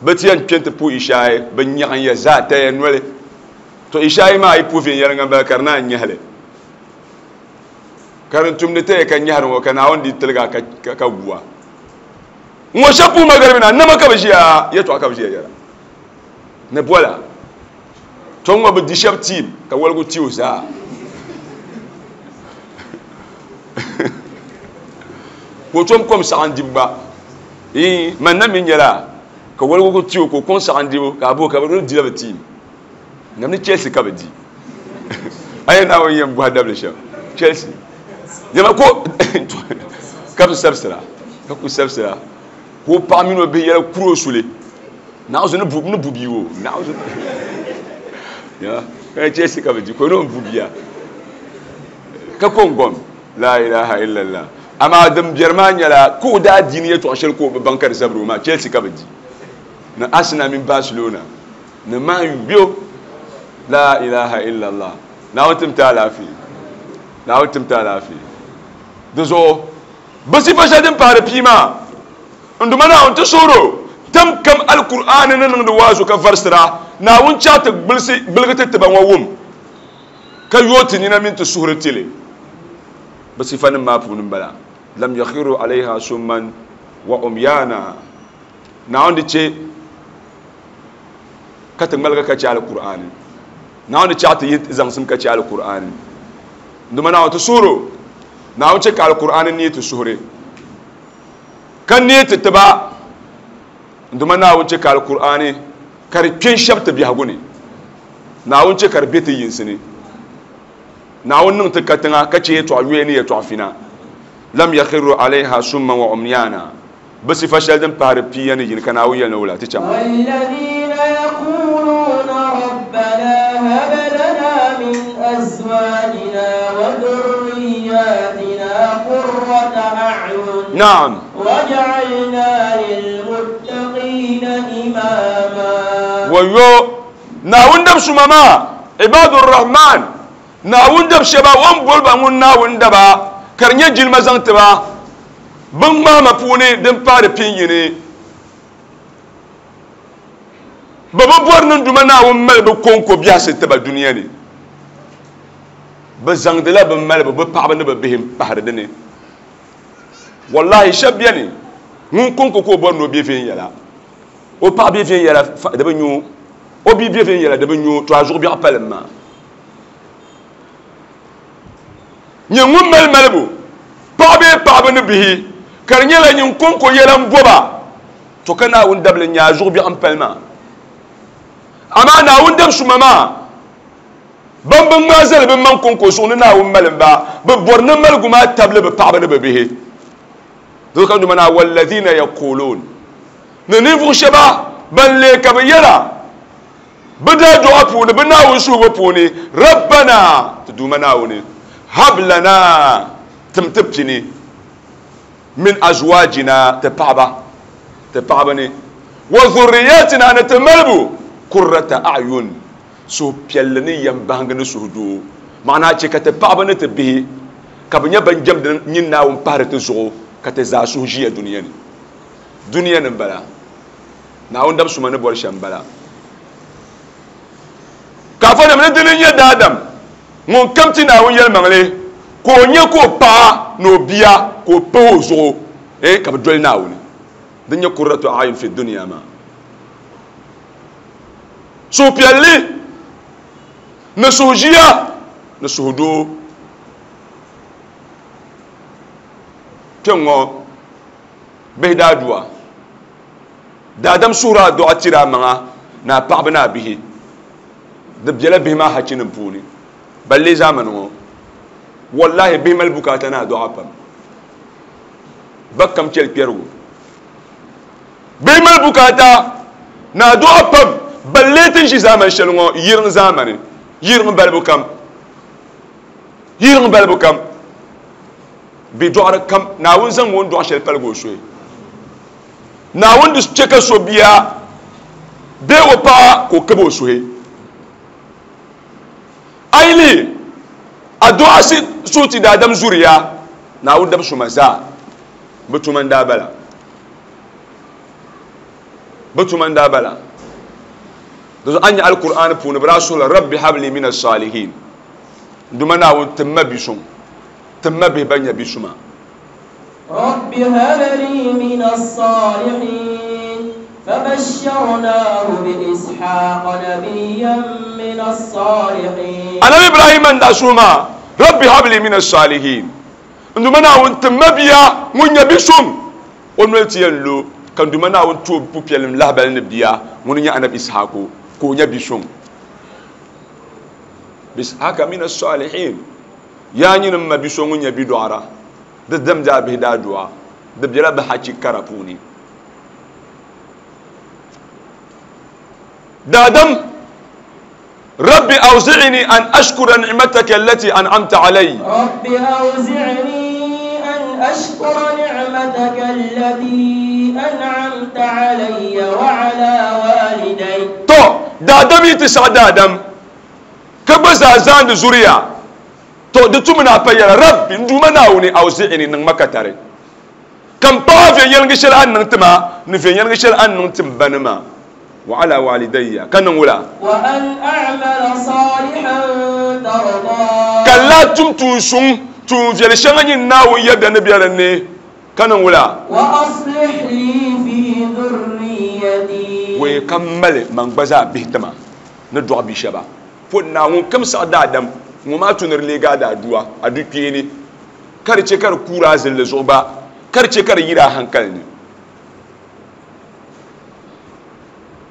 Bɛ ti yɛn kpe nti puhi Ishaya, bɛ nyaɣin ya zaa taya noli. To Ishaya maa yi puhi viɛnyɛliŋga m-bala ka di naan nyahi li. Ka din tumdi taya ka nyahiri ŋɔ ka Naawuni di tiligi a ka, ka gu a. Ŋɔ shɛba puhi magaribi na, nama ka bɛ ʒiya, yɛtɔɣa ka bɛ ʒiya yɛra. Ni bɔla. To ŋɔ bɛ di shɛba tiim ka waligu ti o zaa. Ka o tom kom saɣim dibu gba. Ii, man na mi nyɛla ka waligu ku ti o ka o kom saɣim dibu ka a bo ka bɛ dila bɛ tiim. Nam ni Chelsea ka bɛ di. A yɛn Naawuni yɛn bɔhi dabili shɛm. Chelsea. Yɛma ko ka bi sabisira, ka ku sabisira. Ka o paɣa mini o bihi yɛla kuri o suli. Naawuzu ni bu, ni bu bia o. Naawuzu. Ya, ka Chelsea ka bɛ di, ka o ni o bu bia. Ka ko n-gom. La ilaha illallah. Amaa din biɛri maa nyɛla ka o daa diini yɛtɔɣa shɛli ka o bi baŋ ka di zabiri o maa, Chelsea ka bɛ di. Ni Arsenal mini Barcelona. Ni Man U bɛ La ilaha illallah. Naawuni tim ti alaafee. Naawuni tim ti alaafee. Di zuɣu bɛ sifa shɛli din paari pii maa, n Duuma Naawuni ti suhiri o tam kam Alkur'aani ni niŋdi waazu ka varisira, Naawuni chaɣ ti gbilisi gbiligi ti tiba ŋɔ wum ka yooi ti nina mini ti suhuri ti li. Bɛ sifanim maa puuni m-bala. Lam yakhiru alayha summan wa umyana. Naawuni di che ka ti ŋmaligi ka che Alkur'aani. Naawuni di chaɣ ti yi zaŋsim ka che Alkur'aani. N Duuma Naawuni ti suhiri o. Naawuni che ka Alkur'aani neei ti suhuri ka neei ti tiba. N Duuma Naawuni che ka Alkur'aani ka di kpe n-shɛbi ti biɛhigu ni. Naawuni che ka di be ti yinsi ni. Naawuni niŋ ti katiŋa ka che yɛtɔɣa yoya ni yɛtɔɣa fina. Lam yakhiru alayha summan wa umyana. Bɛ sifa shɛli din pahiri pia ni yini ka Naawuni yɛli ni wula ti chaŋ. والذين يقولون ربنا هب لنا من أزواجنا وذرياتنا قرة أعين نعم واجعلنا للمتقين إماما. ويو Naawuni dab suma maa, Ibadur Rahman, Naawuni dab shɛba o ni boli ba ŋun Naawuni daba ka di nyɛ jilima zaŋ ti ba bin ŋmahima puuni din paari pin yini. Bɛ bi bɔri ni Duuma Naawuni mali bɛ kɔŋko biɛhisi ti ba dunia ni. Bɛ zaŋdila bɛ malibu, bɛ paɣaba ni bɛ bihi m-pahiri di ni. Wallahi shɛba beni Ŋun konko ka o bɔri ni o be viɛnyɛla o paɣa be viɛnyɛla di bi nyo o bia be viɛnyɛla di bi nyo to a zuɣu biɛɣu palim maa nyɛ ŋun mali malibu paɣa bee paɣaba ni bihi ka di nyɛla nyin konko yɛla n boba to ka Naawuni dabili n nyɛ a zuɣu biɛɣu n pali maa amaa Naawuni dab suma maa ban bi ŋmaa zali bi maŋ konko zuɣu ni Naawuni malim ba bi bɔri ni maligu maa tabili bi paɣaba ni bi bihi doo ka duma naa walladhina yaqulun ni ninvuɣu shɛba ban lee ka bi yɛla bi daa duɣa puuni bi Naawuni suhubu puuni rabbana ti duuma Naawuni hab lana tim ti pini min azwajina ti paɣaba ti paɣaba ni wa dhurriyatina ni ti malibu qurrata a'yun suhupiɛlli ni yɛm bahingi ni suhudoo maana chɛ ka ti paɣaba ni ti bihi ka bi nyɛ ban jɛmdi nyin Naawuni pahiri ti zuɣu ka ti zaa suhu ʒiya duniya ni duniya ni n bala Naawuni dab suma ni bɔri shɛm n bala ka afa nim ni dini nyɛ daadam ŋun kam ti Naawuni yɛlimaŋli ka o nyɛ ka o paɣa ni o bia ka o pahi o zuɣu eh ka bi doli Naawuni din nyɛ qurratu a'yun fi dunya maa suhupiɛlli ni suhuʒiya ni suhudoo kpɛŋŋɔ bihi daa duwa daadam suhuri a duɣa tiri a maŋa ni a paɣaba ni a bihi di biɛla bihi maa hachinim puuni balle zamani ŋɔ wallahi bihi mali bukaata ni a duɣa pam ba kam chɛli kpɛrigu bihi mali bukaata ni a duɣa pam balle tin ʒi zamani shɛli ŋɔ yiriŋ zamani yiriŋ balibu kam yiriŋ balibu kam bi dɔɣiri kam Naawuni zaŋ o ni dɔɣi shɛli paligi o soya Naawuni di chɛ ka so bia bee o paɣa ka o kabi o suhi a yi lihi a duɣa suhu ti daadam zuriya Naawuni dab suma zaa bi tuma n daa bala bi tuma n daa bala di zuɣu a nya Alkur'aani puuni bi daa suhila rabbi habli min as-salihin duma Naawuni tim ma bi suŋ tim ma bihi ban nyɛ bi suma rabbi habli min as-salihin fabashsharnahu bi ishaqa nabiyyan min as-salihin Anabi Ibrahim n daa suhi maa rabbi habli min as-salihin duma Naawuni tim ma bia ŋun nyɛ bi suŋ o noli ti yɛn lo ka duma Naawuni ti o pupiɛlim lahabali ni bia ŋuni nyɛ Anabi Ishaku ka o nyɛ bi suŋ Ishaqa min as-salihin yaa nyini ma bi so ŋun nyɛ bi dɔɣira di damdi a bihi daa du'a di biɛla bi hachi kara puuni daadam rabbi awzi'ni an ashkura ni'mataka allati an'amta alayya rabbi awzi'ni an ashkura ni'mataka allati an'amta alayya wa ala walidayya to daadam yi ti saɣa daadam ka gba zaa zaandi zuriya to di tum na pa yɛla rabbi n duuma Naawuni awzi'ni niŋ ma katari ka n paɣa viɛnyɛlingi shɛli a ni niŋ ti ma ni viɛnyɛlingi shɛli a ni niŋ ti n ba ni ma wa ala walidayya ka niŋ wula wa an a'mala salihan tarda ka laa tum tuun suŋ tuun viɛli shɛŋa nyin Naawuni yɛda ni bɛ dinni ka niŋ wula wa aslih li fi dhurriyyati wei ka mali man gba zaa bihi tima ni dɔɣi bi shɛba po Naawuni kam saɣa daadam ŋɔ maa tuniri leegi a daa duwa a du kpeeni ka di chɛ ka di kuuri a zilli zuɣu gba ka di chɛ ka di yiri a hankali ni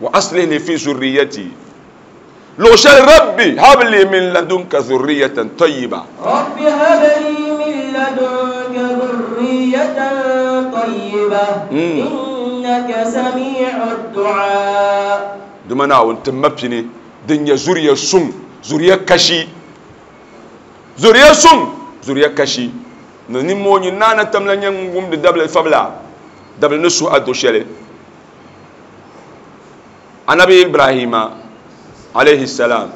wa aslih li fi zurriyati luɣu shɛli rabbi habli min ladunka zurriyatan tayyiba rabbi habli min ladunka zurriyatan tayyiba innaka sami'ud du'a duma Naawuni ti ma pini din nyɛ zuriya suŋ zuriya kashi zuriya suŋ zuriya kashi ni nimmoo nyin naana tamla nyɛ ŋun wumdi dabili fabila dabili ni suhu a do shɛli Anabi Ibrahima alayhi salam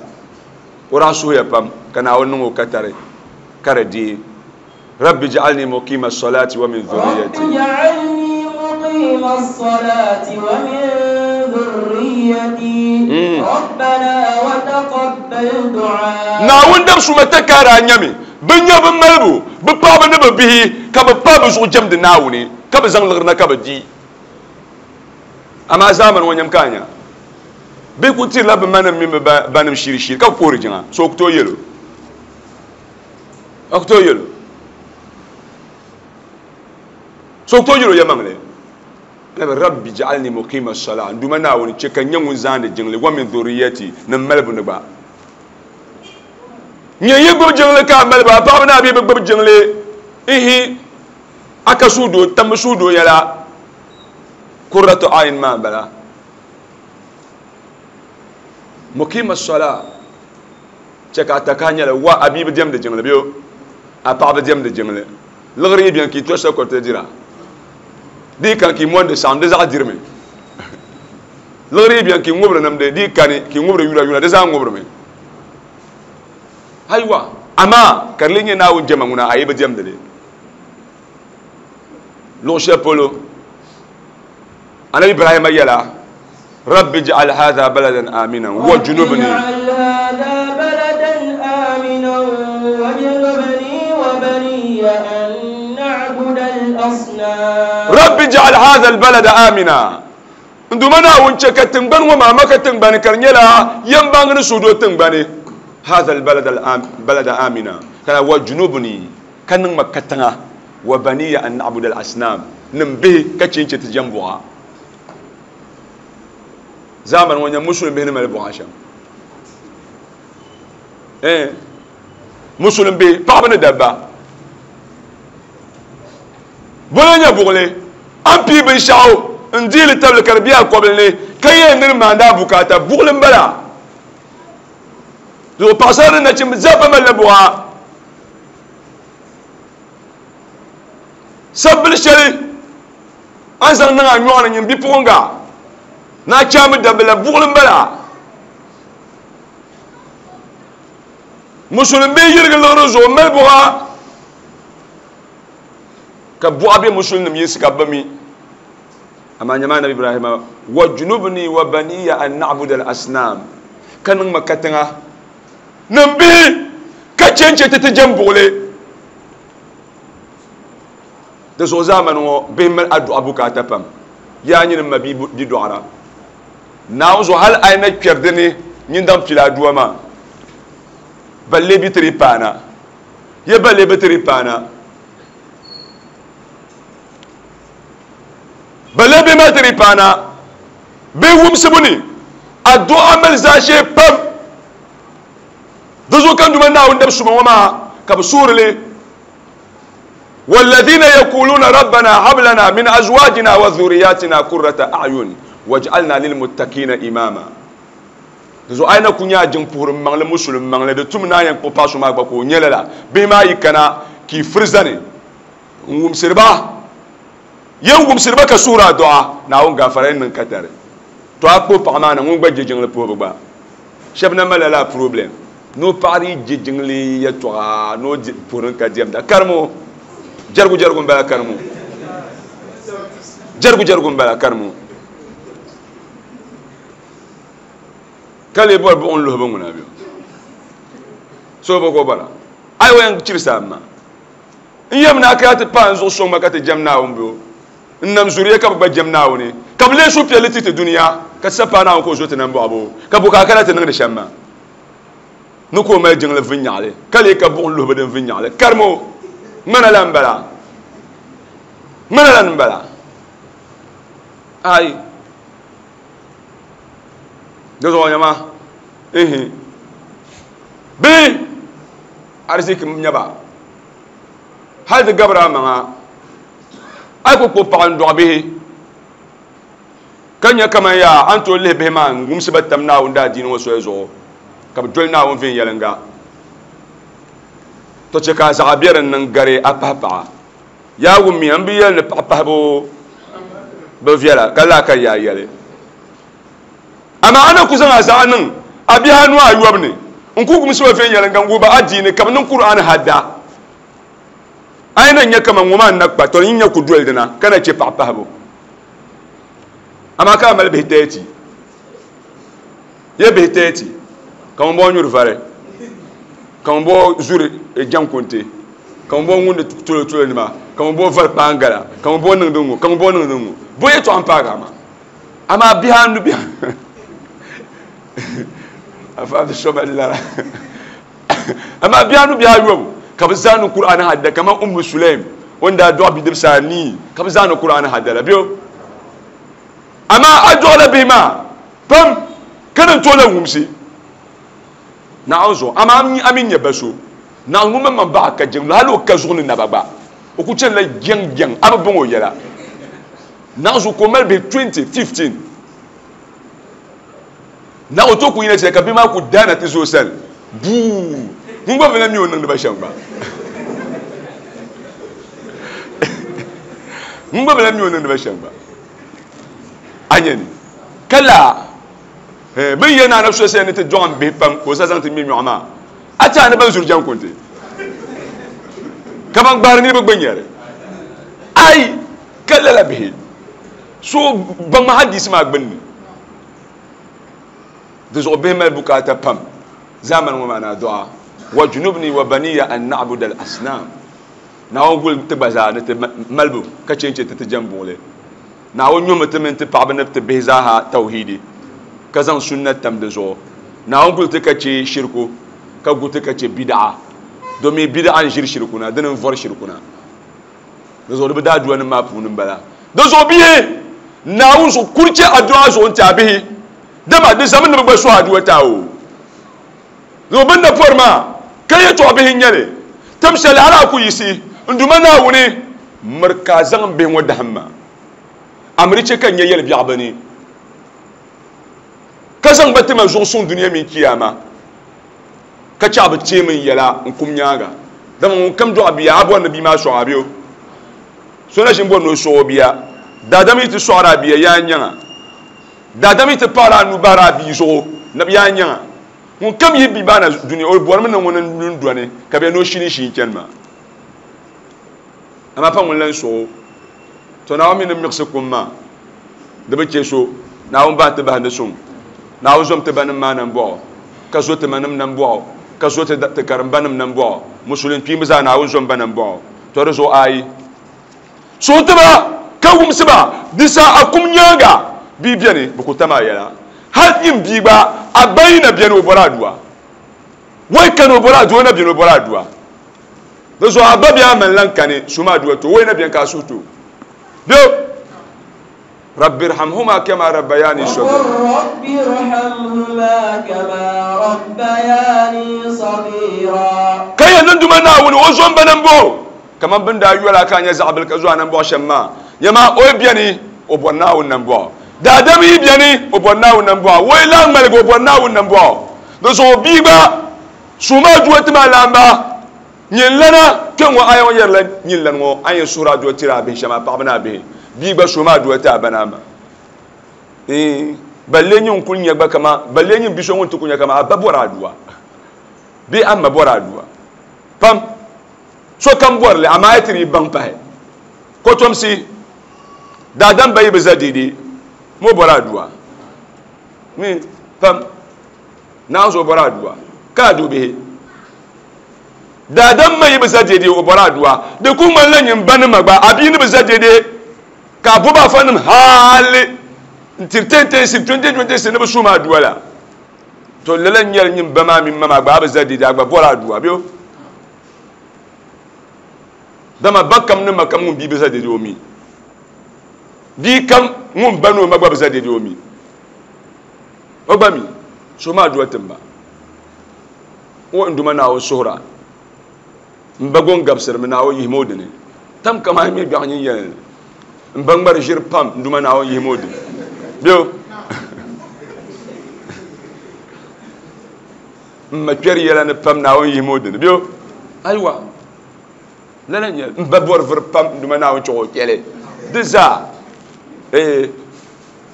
o daa suhuya pam ka Naawuni niŋ o katari ka di deei rabbi ja'alni muqima as-salati wa min dhurriyyati rabbi ja'alni muqima as-salati wa min dhurriyyati rabbana wa taqabbal du'a Naawuni dab suma ta kaara nyami bi nya bi malibu bi paɣaba ni bi bihi ka bi pa bi zuɣu jɛmdi Naawuni ka bi zaŋ liɣiri na ka bi di Amaa zaamani ŋɔ nyam ka a nya bɛ ku tirila bɛ manim mini bɛ banim shiri shiri ka bɛ puhiri jiŋa so ku tooi yɛlo a ku tooi yɛlo so ku tooi yɛlo yɛmaŋli nabi rabbi ja'alni muqima as-salah n Duuma Naawuni chɛ ka n nyɛ ŋun zaandi jiŋli wa min dhurriyyati ni m malibu ni gba nyɛ yi gbubi jiŋli ka a malibu a paɣaba ni a bihi bi gbubi jiŋli ihi a ka suhudoo tambu suhudoo yɛla kurratu ayin maa n bala muqima as-salah chɛ ka a taka nyɛla wa a bia bi diɛmdi jiŋli bɛ a paɣa bi diɛmdi jiŋli liɣiri yi bɛni ka yi to shɛli dira di kan ki mondi saɣam di zaɣ dirimi liɣiri yi bɛni ka yi ŋubiri nimdi di kani ka yi ŋubiri yula yula di zaa ŋubirimi ayiwa amaa ka di lee nyɛ Naawuni jɛma ŋuna a yi bi diɛmdi li luɣu shɛli polo anabi Ibrahima yɛla rabbi ij'al hadha baladan aminan wa junubni rabbi ij'al hadha albalada amina n Duuma Naawuni chɛ ka tiŋgbani ŋɔ maa Maka tiŋgbani ka di nyɛla yɛmbaŋ ni suhudoo tiŋgbani hadha albalada amina kana wa junubni ka niŋ ma katiŋa wa baniya an na'budu al-asnam nim bihi ka chɛ n-chɛ ti jɛm buɣa zamani ŋɔ nyɛ musulin bihi ni mali buɣa shɛm eh musulin bihi paɣaba ni dabba bolo nyɛ buɣuli an pii binshaɣu n diili tabili ka di bɛ a kɔbili ni ka yɛn ni di maandi a bukaata buɣuli n bala zuɣu paɣasara ni nachimbi zaa pa malila buɣa sabbili shɛli an zaŋ niŋ a nyɔɣu ni nyin bipuɣunga na chaami dabba la buɣuli n bala musulin bihi yirigi liɣiri zuɣu mali buɣa ka buɣa bɛ musulinim yinsi ka bi mi amaa nyɛma anabi Ibrahima wa junubni wa baniya an na'budu al-asnam ka niŋ ma katiŋa nim bihi ka chɛ n chɛ ti ti jɛm buɣuli di zuɣu zaamani ŋɔ bihi mali aduɣa bukaata pam yaa nyini ma bi dɔɣira Naawuni zuɣu hali a yi na kpɛri dini nyin daŋ pili aduwa maa balle bi tiri paana ye balle bi tiri paana balle bi ma tiri paana bi wumsibu ni adu'a mali zaashee pam di zuɣu ka n Duuma Naawuni dab suma ŋɔ maa ka bi suurili والذين يقولون ربنا هب لنا من ازواجنا وذرياتنا قرة اعين واجعلنا للمتقين اماما zo ayna kunya jin puhur mangle musulum mangle de tum na yan ko pasu ma gba ko nyelela be ma yikana ki frizani ngum sirba yen ngum sirba ka sura du'a na on gafara nin katare to akpo pagma na ngun gba jejingle po gba shebna malala problem no pari jejingle ya to no purin ka diam da karmo jargu jargu mbala karmu jargu jargu mbala karmu kale bor bu on lo bu nguna bi so bo ko bala ay wen cirsa ma n yem na ka ti pan zo so ma ka ti jam na on bo n nam zuriya ka ba jam na woni ka le su pele ti ti duniya ka sa pa na ko zo ti nan bo abo ka bu ka kana ti niŋdi shɛm maa ni ko mali jiŋli viŋyaɣali ka lee ka buɣum luhi bi din viŋyaɣali karimo ŋmana la n bala ŋmana la n bala ai di zuɣu nyɛma ihi bihi ariziki nyɛba hali di gabira maŋa a yi ku kpuɣi paɣa n dɔɣi bihi ka nyɛ kaman yaa a ni tooi lihi bihi maa n wumsi ba tam Naawuni daadiini ŋɔ soli zuɣu ka bi doli Naawuni viɛnyɛlinga to chɛ ka a zaɣa bɛ din niŋ gari a pahi paɣa yaa wummiya n bi yɛli ni paɣa pahibu bi viɛla ka laa ka yaa yɛli amaa a na ku zaŋ a zaɣa niŋ a bihi anu ayɔbu ni n ku wumsi ba viɛnyɛlinga n wuhi ba adiini ka bi niŋ Kur'an hadda a yi na nyɛ kaman ŋɔ maa n na kpa to yi nyɛ ku doli dina ka na chɛ paɣa pahibu amaa ka a mali bihi thirty ye bihi thirty ka ŋun bɔ nyuri vari ka ŋun bɔ zuri jankunte ka ŋun bɔ ŋundi tolo tolo nima ka ŋun bɔ vari kpaangala ka ŋun bɔ niŋdi ŋɔ ka ŋun bɔ niŋdi ŋɔ bo yɛltɔɣa n paagi a maa Amaa bihi anu bihi afa bi so lara amaa bihi anu bihi ayobu ka bi zaani Qur'an hadda kaman Ummu Sulaim wanda dɔɣi bidibsi anii ka bi zaani Qur'an hadda la biyo amaa a dɔɣila bihi maa pam ka ni tooi la wumsi Naawuni zuɣu amaa a mi nyɛ ba so Naawuni ŋun maŋmaŋ baɣa ka jiŋli hali o ka zuɣu ni naba gba o ku chanila jɛŋ jɛŋ a bi bɔŋ o yɛla Naawuni zuɣu ka o mali bihi twenty fifteen na o tooi ku yina chɛ ka bihi maa ku daana ti zo sani buu ŋun gba bi na mi o niŋdi ba shɛm gba ŋun gba bi na mi o niŋdi ba shɛm gba a nyɛ ni ka laa bin yɛn naana so sani ni ti dɔɣim bihi pam ka o sa zaŋ ti ŋmɛ nyɔɣu maa a ti a ni ban zuri jɛŋ kunti ka ban gbaari niriba gba nyɛri ai ka lala bihi so baŋ ma hadisi maa gbunni di zuɣu bihi mali bukaata pam zamani ŋɔ maa na dɔɣa wa junubni wa baniya an na'budu al asnam Naawuni guli ti gba zaa ni ti malibu ka chɛ n-chɛ ti ti jɛm buɣili Naawuni nyuhimi ti mini ti paɣaba ni ti bihi zaaha tawhidi ka zaŋ sunna tam di zuɣu Naawuni guli ti ka chɛ shirku ka gu ti ka chɛ bidaa domi bidaa n ʒiri shirku na dini n vɔri shirku na di zuɣu di bi daa dua nim maa puuni n bala di zuɣu bihi Naawuni zuɣu kuri chɛ adua zuɣu n ti a bihi dama di zami ni bi gba suhi adua ti a o zuɣu bin na pɔri maa ka yɛltɔɣa bihi n nyɛli tam shɛli hali a ku yiɣisi n duma Naawuni miri ka a zaŋ bihi ŋɔ dahim ma amiri chɛ ka n nyɛ yɛli biɛɣu bi ni ka zaŋ ba tima zuɣu suŋ dunia mini kiyama ka chɛ a bi teemi n yɛla n kum nyaaŋa dama ŋun kam dɔɣi bia a bɔri ni bia maa sɔɣi a bɛ so na ʒini bɔri ni o sɔɣi o bia daadam yi ti sɔɣiri a bia yaa nyaŋa daadam yi ti paɣiri a nuu bahiri a bia zuɣu na yaa nyaŋa ŋun kam yi bia baana dunia o bɔrimi ni ŋuni n dɔni ka bɛ ni o shini shii chani maa amaa pa ŋun lan sɔɣi o to Naawuni mi ni miɣisi kum maa di bi chɛ so Naawuni bahi ti bahi ni suŋ Naawuni zom ti banim maa nambɔɣu ka zo ti manim nambɔɣu ka zo ti ti karimbanim nambɔɣu musulin kpiimbi zaa Naawuni zom ba nambɔɣu to di zuɣu ayi suhu tiba ka wumsi ba di sa a kum nyaaŋa bia beni bi ku tam a yɛla hali nyin bia gba a ba yi na beni o bɔri adua wai kani o bɔri adua o na beni o bɔri adua di zuɣu a ba bɛ a mani lan kani suma adua to wai na beni ka a suhu to bɛ رب ارحمهما كما ربياني صغيرا رب ارحمهما كما ربياني صغيرا كي نندم ناول وزن بنمبو كما بندا يولا كان يزعبل كزوا نمبو شما يما او بياني او بناو نمبو دادمي بياني او بناو نمبو ويلا ملك او بناو نمبو دسو بيبا سوما جوت ما لامبا نيلنا كن ايو يرلا نيلن مو اي سورة جوت رابي شما بابنا بي bia gba so maa dua ti a ba naa ma balle nyin kuli nyɛ gba kama balle nyin bi so ŋun ti ku nyɛ kama a ba bɔri adua bee a ma bɔri adua pam sokam bɔrili amaa yi ti di baŋ pahi kotomsi daadam ba yi bi za deedee mo bɔri adua mi pam naanzuo bɔri adua ka a bihi daadam ma yi bi za deedee o bɔri adua di ku ŋmanila nyin ba nima gba a bia ni bi za deedee ka abuba fanim hali ntir ten ten si twenty twenty si ni bi suma aduwa la to lala nyɛli nyin ba maa mini ma maa gba a bi za deedee a gba bɔri aduwa bɛ dama ba kam ni ma kam ŋun bia bi za deedee o mi bia kam ŋun ba ni o ma gba bi za deedee o mi o gba mi suma aduwa timba o n duma Naawuni suhura n ba gon gabsirimi Naawuni yihimi o dini tam kama mi gbiɛɣu nyin yɛli n ba ŋmari ʒiri pam n duma Naawuni yihimi o dini bɛ n ma kpɛri yɛla ni pam Naawuni yihimi o dini bɛ ayiwa lala nyɛli n ba bɔri vuri pam n duma Naawuni chɛ o kpɛli di zaa ee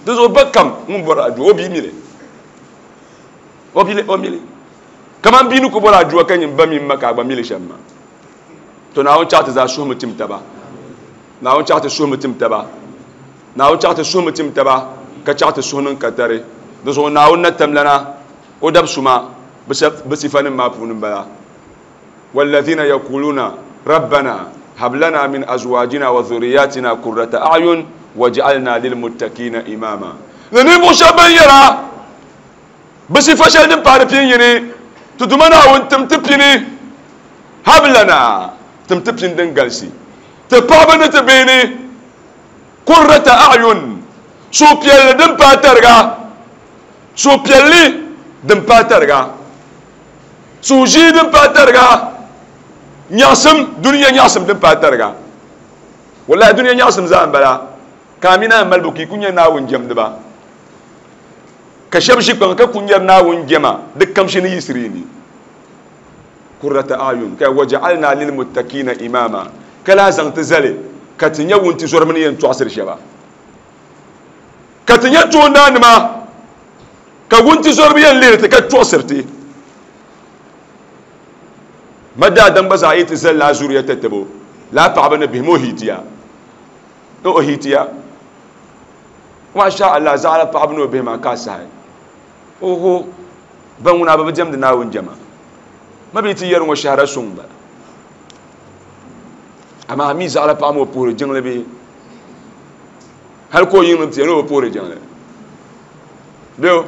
di zuɣu ba kam ŋun bɔri adua o bia mili o bili o mili kaman bia ni ku bɔri adua ka nyin ba mini ma ka a gba mili shɛm maa to Naawuni chaɣ ti zaa suhumi tim taba Naawuni chaɣ ti suhumi tim taba Naawuni chaɣ ti suhumi tim taba ka chaɣ ti suhu niŋ katari di zuɣu Naawuni na tamlana o dab suma bi sifanim maa puuni n bala walladhina yaquluna rabbana hab lana min azwajina wa dhurriyyatina qurrata a'yun waj'alna lilmuttaqina imama Ni ninvuɣu shɛba ban yɛra bi sifa shɛli din paari pin yini ti Duuma Naawuni tim ti pini hablana tim ti pini din galisi ti paɣaba ni ti bihi ni qurrata a'yun suhupiɛlli din paai tariga suhupiɛlli din paai tariga suhuʒii din paai tariga nyaɣasim duniya nyaɣasim din paai tariga wallahi duniya nyaɣasim zaa n bala ka a mini a malibu ka i ku nyɛ Naawuni jɛmdiba ka shɛba ʒi kpaŋa ka ku nyɛri Naawuni jɛma di kamshi ni yiɣisiri ni qurrata a'yun ka waja'alna lilmuttaqina imama ka lahi zaŋ ti zali ka ti nyɛ wuntizɔriba ni yɛn tɔɣisiri shɛba ka ti nyɛ toondaanima ka wuntizɔriba yɛn lihiri ti ka tɔɣisiri ti ma daadam gba zaa yi ti zali laa zuriya tatabo laa paɣaba ni bihi ma o hiitiya ni o hiitiya masha Allah zaɣala paɣaba ni o bihi maa ka a sahi oho ban ŋuna bi bi diɛmdi Naawuni jɛma ma bi ti yɛri ŋɔ shahara suŋ bala amaa mi zaɣala paɣa ma o puhiri jiŋli bihi hali ka o yiŋ ti ni o puhiri jiŋli beo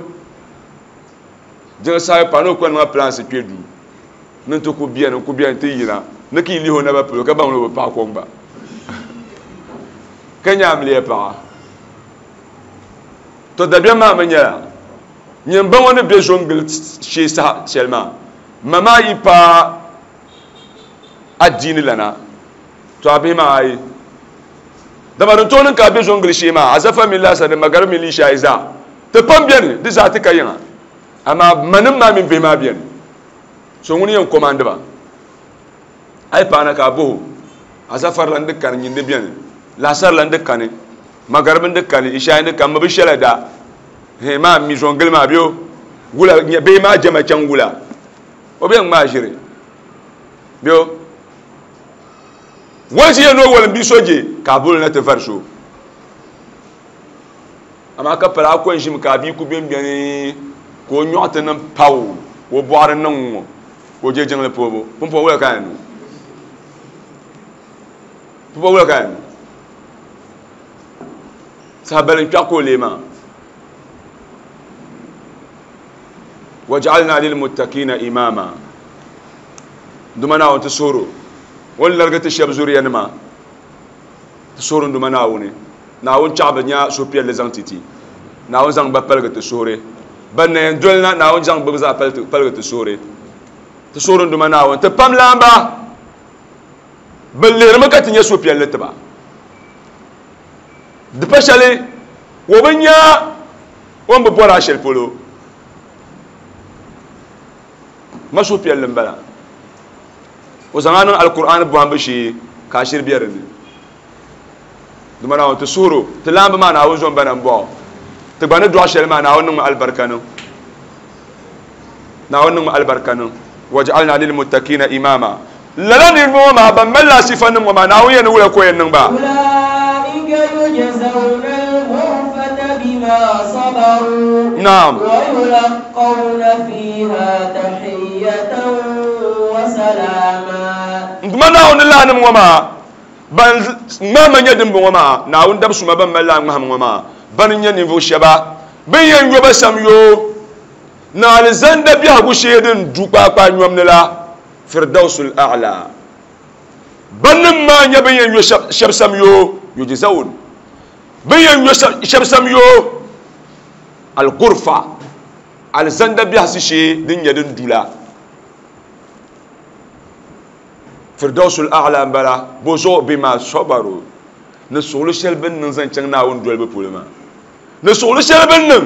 jiŋli sahi pa ni o kɔni maa pilansi kpe duu ni ti ku biɛni ku biɛni ti yina ni ka i lihi o naba polo ka baŋ ni o bi paɣa kom gba ka nyaamliya paɣa to dabiɛm maa mi nyɛla nyin ba ŋɔ ni be zo n-gili shee saha shɛli maa ma maa yi paai adiini lana to a bihi maa ayi dama din tooi niŋ ka a be zo n-gili shee maa azafa mini laasari ni magaribi mini lishayi zaa ti pam beni di zaa ti ka yiŋa amaa manim maa mini bihi maa beni so ŋuni yɛn komandi ba a yi paana ka a boho azafar la n-di kani nyin di beni laasari la n-di kani magaribi n-di kani ishayi n-di kani mi bi shɛla da he maa mi zo n-gili maa beo wula bihi maa jɛma chaŋ wula o bɛ ŋmaa ʒiri beo wɔnsi yɛn ni o wɔlim bia so je ka a boli na ti vari so amaa ka pala a ko n-ʒimi ka a bia ku bɛn bɛni ka o nyɔɣu ti niŋ paw ka o bɔɣiri niŋ ŋɔ ka o je jiŋli poobu pumpɔŋ wula ka a yɛn niŋ pumpɔŋ wula ka a yɛn niŋ saha bali n-kpɛɣu ka o lee maa waj'alna lilmuttaqina imama Duuma Naawuni ti suhiro o ni larigi ti shɛba zuriyanima ti suhiri n Duuma Naawuni Naawuni chaɣi bi nya suhupiɛlli zaŋ ti ti Naawuni zaŋ ba paligi ti suhuri ban na yɛn doli na Naawuni zaŋ bi zaa paligi ti suhuri ti suhiri n Duuma Naawuni ti pam laamba bi lihirimi ka ti nya suhupiɛlli tiba di pa shɛli o bi nya o ni bi bɔri a shɛli polo ma suhupiɛlli n bala o zaŋ a niŋ alkur'an bɔhimbu shee ka a shiri be dinni Duuma Naawuni ti suhiro ti laamba maa Naawuni zom ba na m-bɔɣo ti gba ni dɔɣi shɛli maa Naawuni niŋmi alibarika niŋ Naawuni niŋmi alibarika niŋ waj'alna lilmuttaqina imama lala niriba ŋɔ maa ban mali laa sifa nim ŋɔ maa Naawuni yɛn ni wula ka o yɛn niŋ ba أولئك يجزون الغرفة بما صبروا naam ويلقون فيها تحية وسلاما Duuma Naawuni laanim ŋɔ maa ban ŋmahima nyɛ din bɔŋɔ maa Naawuni dab suma ban mali laa ŋmahim ŋɔ maa bani n-nyɛ ninvuɣu shɛba bin yɛn yo ba sam yoo ni alizanda biɛhigu shee din du kpaakpaa nyom ni la firdausul a'la bannim maa nyɛ bin yɛn yo shɛba sam yoo yujzawun bin yɛn yo shɛba sam yoo al-ghurfa alizanda biɛhisi shee din nyɛ din du la firdausul a'la n bala bo zuɣu bima sabaru ni suɣuli shɛli bin niŋ zaŋ chaŋ Naawuni dolibu polo maa ni suɣuli shɛli bin niŋ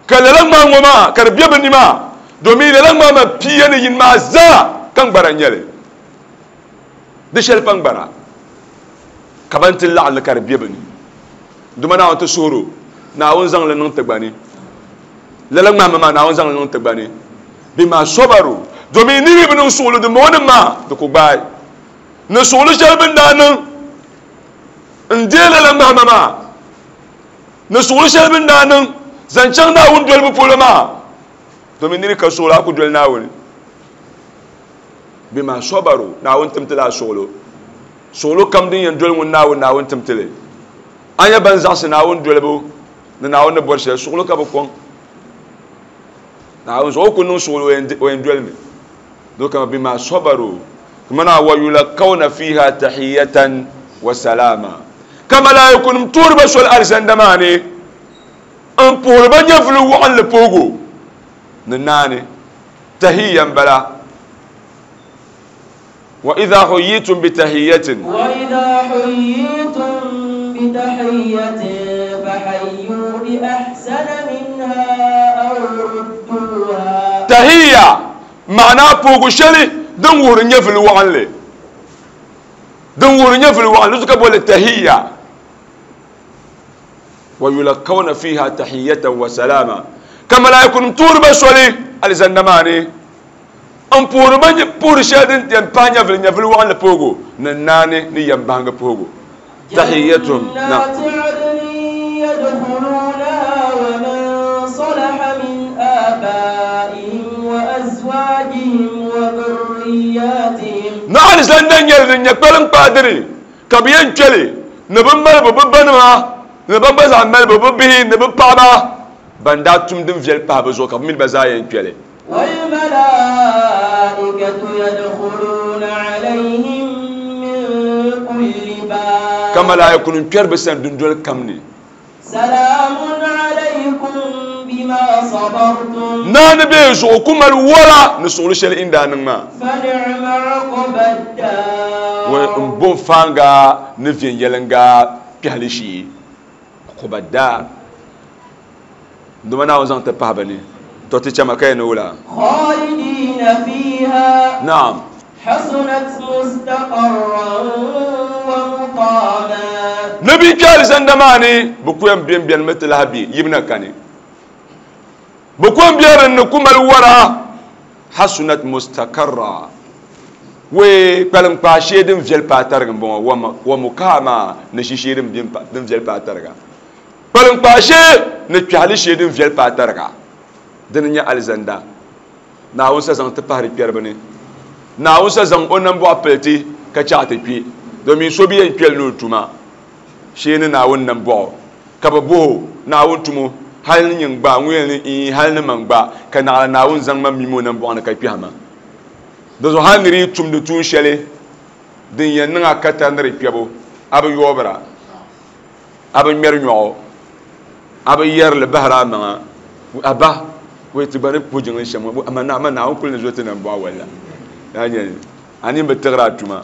ka lala ŋmaa ŋɔ maa ka di be bi ni maa domin lala ŋmaa maa pia ni yini maa zaa ka ŋgbara n nyɛli di shɛli pa ŋgbara ka ban ti laɣim li ka di be bi ni Duuma Naawuni ti suhiro Naawuni zaŋ li niŋ ti gba ni lala ŋmaa maa Naawuni zaŋ li niŋ ti gba ni bima sabaru domin niriba bi niŋ suɣuli din bɔŋɔ nim maa di ku gbaai ni suɣuli shɛli bin daa niŋ n deei lala ŋmahima maa ni suɣuli shɛli bin daa niŋ zaŋ chaŋ Naawuni dolibu polo maa domin niri ka suɣuli a ku doli Naawuni bima sabaru Naawuni tim ti la a suɣulo suɣulo kam din yɛn doli ŋun Naawuni Naawuni tim ti li a nyɛ ban zaɣisi Naawuni dolibu Ni Naawuni ni bɔri shɛli suɣulo ka bi kɔŋ. Naawuni zuɣu o ku niŋ suɣulo o yɛn dolimi. Do kama bima sabaru kamana wa yulaqawna fiha tahiyatan wa salama. Ka malaikunum tuuri ba soli alizanda maa ni n puhiri ba nyɛvuli waɣinli puhigu ni naani tahiyya n bala. Wa idha huyitum bi tahiyatin. Wa idha huyitum bi tahiyatin fahayyu bi ahsana minha aw rudduha. Tahiyya ma'ana puhigu shɛli din wuhiri nyɛvuli waɣinli. Din wuhiri nyɛvuli waɣinli zuɣu ka boli tahiyya. Wa yulaqawna fiha tahiyatan wa salama. Ka malaikunum tuuri ba soli alizanda maa ni n puhiri ba puhiri shɛli din yɛn pahi nyɛvuli nyɛvuli waɣinli puhigu ni naani ni yɛn bahingi puhigu. Tahiyyatun na. Na alizanda nyɛli din nyɛ kpalim kpaadiri ka bi yɛn kpɛli ni bi mali bi bi banima ni ban gba zaa mali bi bi bihi ni bi paɣaba ban daa tum din viɛli pahi bi zuɣu ka bi mini ba zaa yɛn kpɛli. والملائكة يدخلون عليهم من كل باب. Ka malaikunum kpɛri bi sani dundoli kam ni. سلام عليكم بما صبرتم. Naani bɛ zuɣu ku mali wala ni suɣuli shɛli inda niŋ maa. فنعم عقبى الدار. Wa n bo faanga ni viɛnyɛliŋga kpɛhili shee. Uqba daar. Duma Naawuni zaŋ ti pahi ba ni. To ti chama ka yɛn ni wula. خالدين فيها. Naam. حسنت مستقرا ومقاما. Nabi kpɛ alizanda maa ni bi ku yɛn bɛn bɛni mi ti lahi bɛ yibina kani. Bi ku yɛn bɛ din ni ku mali wara. Hasunat mustakarra. Wee kpalim kpaa shee din viɛli paai tariga n bɔŋɔ wa mukama ni shi shee din viɛli paai tariga. Kpalim kpaa shee ni kpɛhili shee din viɛli paai tariga. Dini nyɛ alizanda. Naawuni sa zaŋ ti pahiri kpɛriba ni. Naawuni sa zaŋ o nambɔɣu piliti ka chaɣ ti kpe. Domin so bi yɛn kpɛli ni o tuma shee ni Naawuni nambɔɣu ka bi boho Naawuni tumo hali ni nyin gba ŋun yɛn ni ii hali ni man gba ka naɣila Naawuni zaŋ ma mimi o nambɔɣu ni ka kpɛhi ma. Di zuɣu hali ni di yi tumdi tuun shɛli din yɛn niŋ a ka tari ni di kpɛbu a bi yoobira a bi ŋmɛri nyɔɣu a bi yɛrili bahiri a maŋa a ba wai ti gba ni puhi jiŋli shɛm ŋɔ ama ama Naawuni kuli ni zo ti nambɔɣu walla. Yaa nyɛli a nini bi tiɣiri a tuma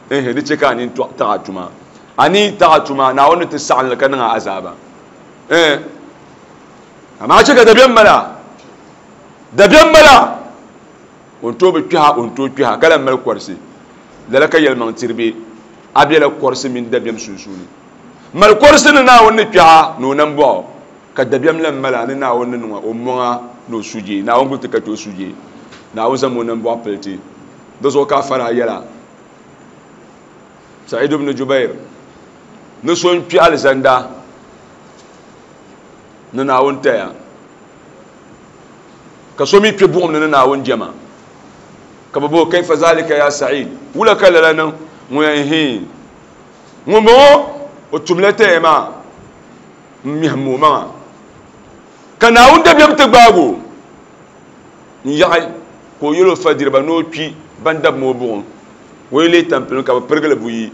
ehe di chɛ ka a nini taɣi a tuma a ni taɣi a tuma Naawuni ni ti saɣim li ka niŋ a azaaba. Eh amaa chɛ ka dabiɛm mala dabiɛm mala o ni tooi bi kpɛha o ni tooi kpɛha ka lan mali kɔrisi lala ka yɛlimaŋ tiri bɛ a bɛla kɔrisi mini dabiɛm sunsuuni mali kɔrisi ni Naawuni ni kpɛha ni o nambɔɣu ka dabiɛm lan mala ni Naawuni ni niŋa o mɔŋa ni o sujee Naawuni guli ti ka ti o sujee Naawuni zaŋ o nambɔɣu piliti di zuɣu ka a fara yɛla. Sa'id ibn Jubair ni so n kpɛ alizanda ni Naawuni taya ka so mi kpɛ buɣum ni ni Naawuni jɛma ka bi bo kaifa zalika ya Sa'id wula ka lala niŋ ŋun yɛn hii ŋun bɔŋɔ o tumla taya maa n mihim o maŋa ka Naawuni dabiɛm ti gbaago n yaɣi ka o yɛl o fadiriba ni o kpi ban dabi ma o buɣum o yi leei tampilim ka bi pirigili buyi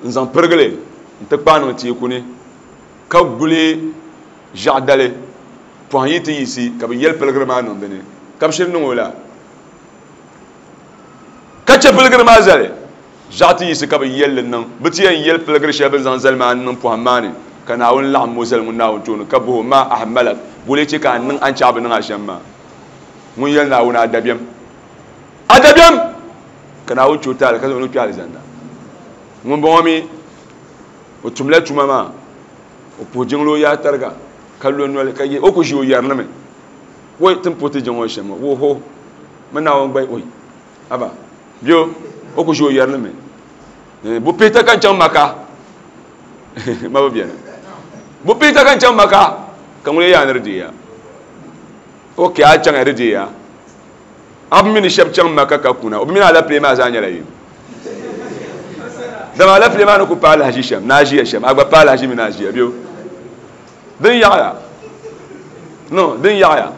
n zaŋ pirigili n ti kpaa niŋ teeku ni ka guli ʒiɛɣu dali pɔhim yi ti yiɣisi ka bi yɛli pirigiri maa niŋ dini ka bi shiri niŋ o la ka chɛ pirigiri maa zali ʒiɛɣu ti yiɣisi ka bi yɛlli niŋ bi ti yɛn yɛli pirigiri shɛli bi ni zaŋ zali maa niŋ pɔhim maa ni ka Naawuni laɣim o zali ŋun Naawuni tooni ka boho ma ahmalak bole chɛ ka a niŋ a ni chaɣ bi niŋ a shɛm maa ŋun yɛli Naawuni a dabiɛm a dabiɛm ka Naawuni chɛ o taali ka zaŋ o kpɛ alizanda. Ŋun bɔŋɔ mi o tumla tuma maa o puhi jiŋli o yaa tariga ka lo noli ka ye o ku ʒi o yɛri mi wai tin puhi ti jiŋ o shɛm ŋɔ wo ho mi Naawuni gba oi aba bio o ku ʒi o yɛri mi bu pihita ka n chaŋ Maka ma bi bɛni bu pihita ka n chaŋ Maka ka ŋun yaa ni di deeya o ke a chaŋ di deeya a bi mini shɛba chaŋ Maka ka kuna o bi mini alapile maa zaa nyɛla yini dama alapile maa ni ku paai lahaʒi shɛm na a ʒiya shɛm a gba paai lahaʒi mini a ʒiya bio Din yaɣaya no din yaɣaya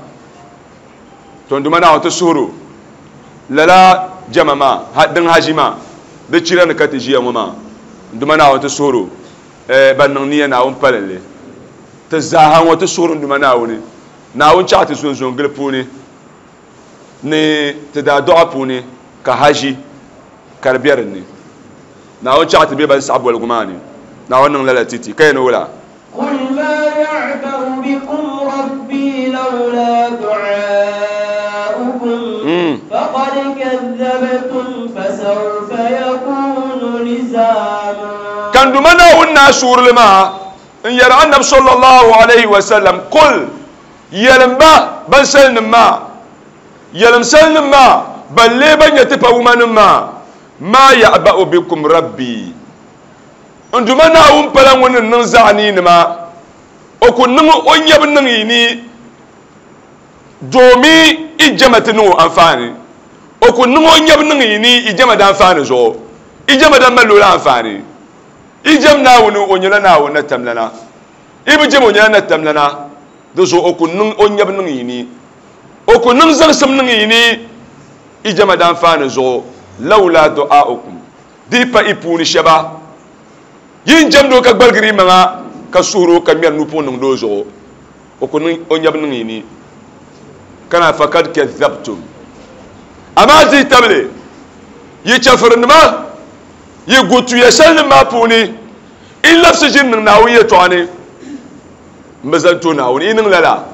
to n duma Naawuni ti suhuro lala jama maa din haji maa di chira ni ka ti ʒiya ŋɔ maa n duma Naawuni ti suhuro ban niŋ niya Naawuni palinli ti zaaha ŋɔ ti suhuro n duma Naawuni Naawuni chaɣa ti zon gili puuni ni ti daa dɔɣa puuni ka haji ka di bɛ dinni Naawuni chaɣa ti bɛ ban saɣa boligu maa ni Naawuni niŋ lala titi ka yɛn wula قل ما يعبأ بكم ربي لولا دعاؤكم فقد كذبتم فسوف يكون لزاما كان دمنا ونا سور لما إن يرى النبي صلى الله عليه وسلم قل يلم با بل سلم ما يلم سلم ما بل لي بن يتفا من ما ما يعبأ بكم ربي n duma Naawuni pala ŋun ni niŋ zaɣa ni nima o ku niŋ o nyabu niŋ yi ni doomi i jɛma ti niŋ o anfaani o ku niŋ o nyabu niŋ yi ni i jɛma da anfaani zuɣu i jɛma da mali o la anfaani i jɛm Naawuni o nyɛla Naawuni na tamlana i bi jɛm o nyɛla na tamlana di zuɣu o ku niŋ o nyabu niŋ yi ni o ku niŋ zaŋsim niŋ yi ni i jɛma da anfaani zuɣu lawla du'aukum di pa i puuni shɛba yin jɛmdo ka gbaligiri maŋa ka suhuro ka ŋmɛri nupuŋ niŋdi o zuɣu o ku niŋ o nyabu niŋ yi ni kana fakad kadhabtum amaa di tabili yi chɛfirinima yi gutuya shɛli nim maa puuni i labisi ʒini niŋ Naawuni yɛltɔɣa ni n bi zali to Naawuni i niŋ lala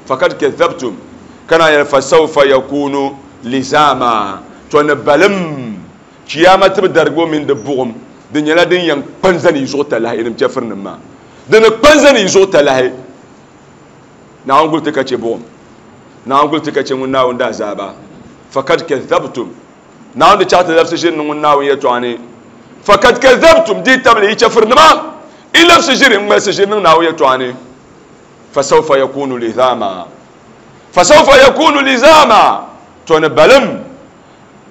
fakad kadhabtum kana yɛli fasawfa yakunu lizama to ni balim kiyama ti bi darigibo mini di buɣum di nyɛla din yɛn kpan zani yi zuɣu talahi nim chɛfirinim maa di ni kpan zani yi zuɣu talahi Naawuni guli ti ka chɛ buɣum Naawuni guli ti ka chɛ ŋun Naawuni daa zaaba fakad kadhabtum Naawuni di chaɣa ti labisi ʒiri ni ŋun Naawuni yɛltɔɣa ni fakad kadhabtum di tabili yi chɛfirinima i labisi ʒiri n ŋmalisi ʒiri niŋ Naawuni yɛltɔɣa ni fasawfa yakunu lizama fasawfa yakunu lizama to ni balim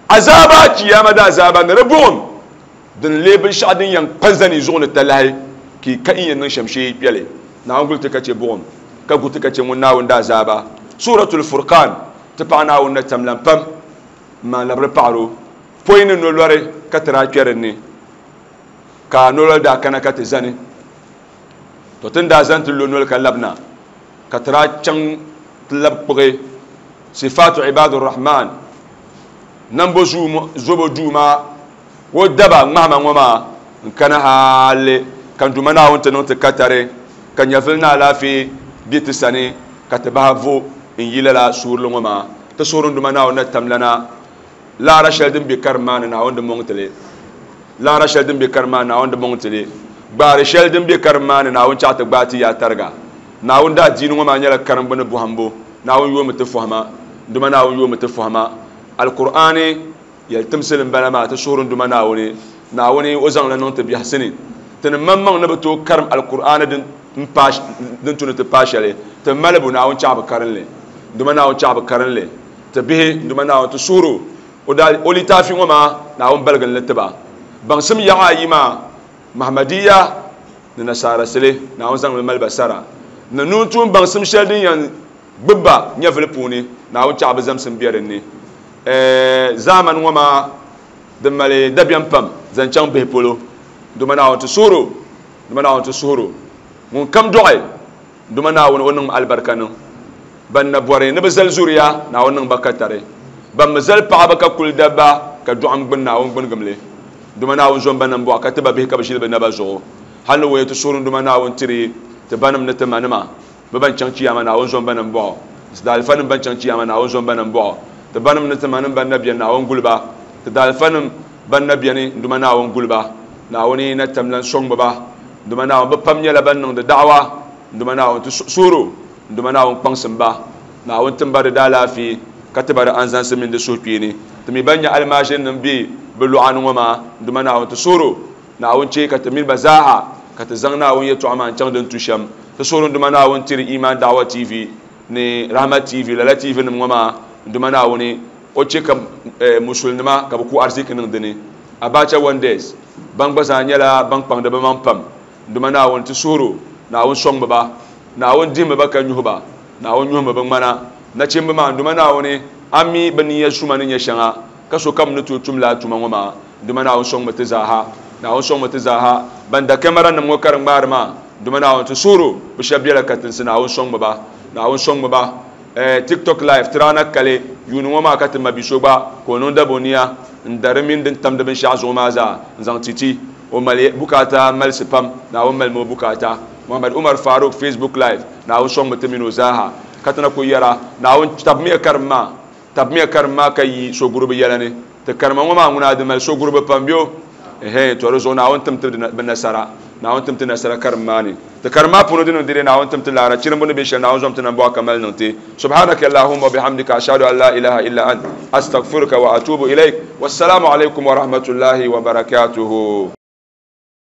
azaba kiyama da azaba ni di buɣum din lee binshɛɣu din yɛn kpa zani zuɣu ni talahi ki ka in yɛn niŋ shɛm shee kpɛli Naawuni guli ti ka chɛ buɣum ka gu ti ka chɛ ŋun Naawuni daa zaaba Suratul Furqan ti paɣa Naawuni na tamlan pam n maa labiri paɣaro pɔi ni nolɔri ka ti daa kpɛ dinni ka nolɔri daa kana ka ti zani to tin daa zani ti lo noli ka labina ka ti daa chaŋ ti labi kpuɣi Sifatu Ibadur Rahman nambo zobo duu maa o daba ŋmahama ŋɔ maa n kana hali ka n duma Naawuni ti niŋ ti katari ka nyɛvili ni alaafee bɛ ti sani ka ti bahi vo n yi lala suurili ŋɔ maa ti suhuri n duma Naawuni na tamlana laara shɛli din bɛ karim maa ni Naawuni di mɔŋ tili laara shɛli din bɛ karim maa ni Naawuni di mɔŋ tili gbaari shɛli din bɛ karim maa ni Naawuni chaɣa ti gbaai ti yaa tariga Naawuni daa diini ŋɔ maa nyɛla karimbu ni bɔhimbu Naawuni yoomi ti fɔhima n duma Naawuni yoomi ti fɔhima Alkur'aani yɛltimsili n bala maa ti suhuri n duma Naawuni Naawuni o zaŋla niŋ ti biɛhisi ni ti ni maŋmaŋ ni bi tooi karim Alkur'aani din din tuni ti paai shɛli ti malibu Naawuni chaɣa bi karinli n duma Naawuni chaɣa bi karinli ti bihi n duma Naawuni ti suhuro o daa o litaafi ŋɔ maa Naawuni baligi li tiba baŋsim yaɣa ayi maa Mahmadiya ni nasaara sili Naawuni zaŋmi mali ba sara ni nuun tuun baŋsim shɛli din yɛn gbubi ba nyɛvili puuni Naawuni chaɣa bi zamsim bɛ dinni zaamani ŋɔ maa din mali dabiɛm pam zaŋ chaŋ bihi polo duma Naawuni ti suhuro duma Naawuni ti suhuro ŋun kam dɔɣi duma Naawuni o niŋ alibarika niŋ ban na bɔri ni bi zali zuriya Naawuni niŋ ba katari ban mi zali paɣaba ka kuli dabba ka dɔɣim gbuni Naawuni gbunigimli duma Naawuni zom ba nambɔɣu ka ti ba bihi ka bi ʒili bi naba zuɣu hali ni woya ti suhuri duma Naawuni tiri ti banim ni ti manima bi ban chaŋ chiyama Naawuni zom ba nambɔɣu ti daalifanim ban chaŋ chiyama Naawuni zom ba nambɔɣu ti banim ni ti manim ban na bɛni Naawuni guliba ti daalifanim ban na bɛni duma Naawuni guliba Naawuni na tamlan sɔŋ ba duma Naawuni bi pam nyɛla ban niŋdi da'awa duma Naawuni ti suhuro duma Naawuni kpaŋsim ba Naawuni timba di daalaafee ka ti ba di anzansi mini di suhukpeeni ti mi ban nyɛ almaajirinim bɛ bi luɣa ni ŋɔ maa duma Naawuni ti suhuro Naawuni chɛ ka ti mini ba zaaha ka ti zaŋ Naawuni yɛltɔɣa maa n chaŋ din tu shɛm ti suhuri duma Naawuni tiri Iman Da'wa T V ni Rahmat T V lala T V nim ŋɔ maa duma Naawuni o chɛ ka musulinima ka bi ku ariziki niŋ dini Abacha Wonders ban gba zaa nyɛla ban kpaŋdi bi maŋ pam duma Naawuni ti suhuro Naawuni sɔŋ ba Naawuni dihimi ba ka nyuhi ba Naawuni nyuhimi bi ŋmana nachimbi maa n duma Naawuni a mi bi niya suma ni nyɛ shɛŋa ka sokam ni tooi tum laa tuma ŋɔ maa n duma Naawuni sɔŋmi ti zaaha Naawuni sɔŋmi ti zaaha ban da kamara nim ŋɔ ka di ŋmaari maa n duma Naawuni ti suhuro bi shɛba biɛla katinsi Naawuni sɔŋmi ba Naawuni sɔŋmi ba eh, TikTok live tirana kali yuuni ŋɔ maa ka ti ma bi so gba ka o niŋ daboniya n dari mini din tamdi binshaɣu zuɣu maa zaa n zaŋ titi o mali bukaata malisi pam Naawuni malimi o bukaata Muhammad Umar Faruk Facebook live Naawuni sɔŋmi ti mini o zaaha ka ti na ku yɛra Naawuni tabimiya karim maa tabimiya karim maa ka yi soguribi yɛla ni ti karima ŋɔ maa ŋuna di mali soguribi pam bɛ ehe to di zuɣu Naawuni tim ti bi nasara Naawuni tim ti nasara karim maa ni ti karim maa puuni di niŋ dede Naawuni tim ti laara chirimbu ni bɛ shɛli Naawuni zom ti nambɔɣu ka mali niŋ ti subhanaka allahumma wa bihamdika ashhadu an la ilaha illa ant astaghfiruka wa atubu ilaik wassalamu alaikum wa rahmatullahi wa barakatuhu.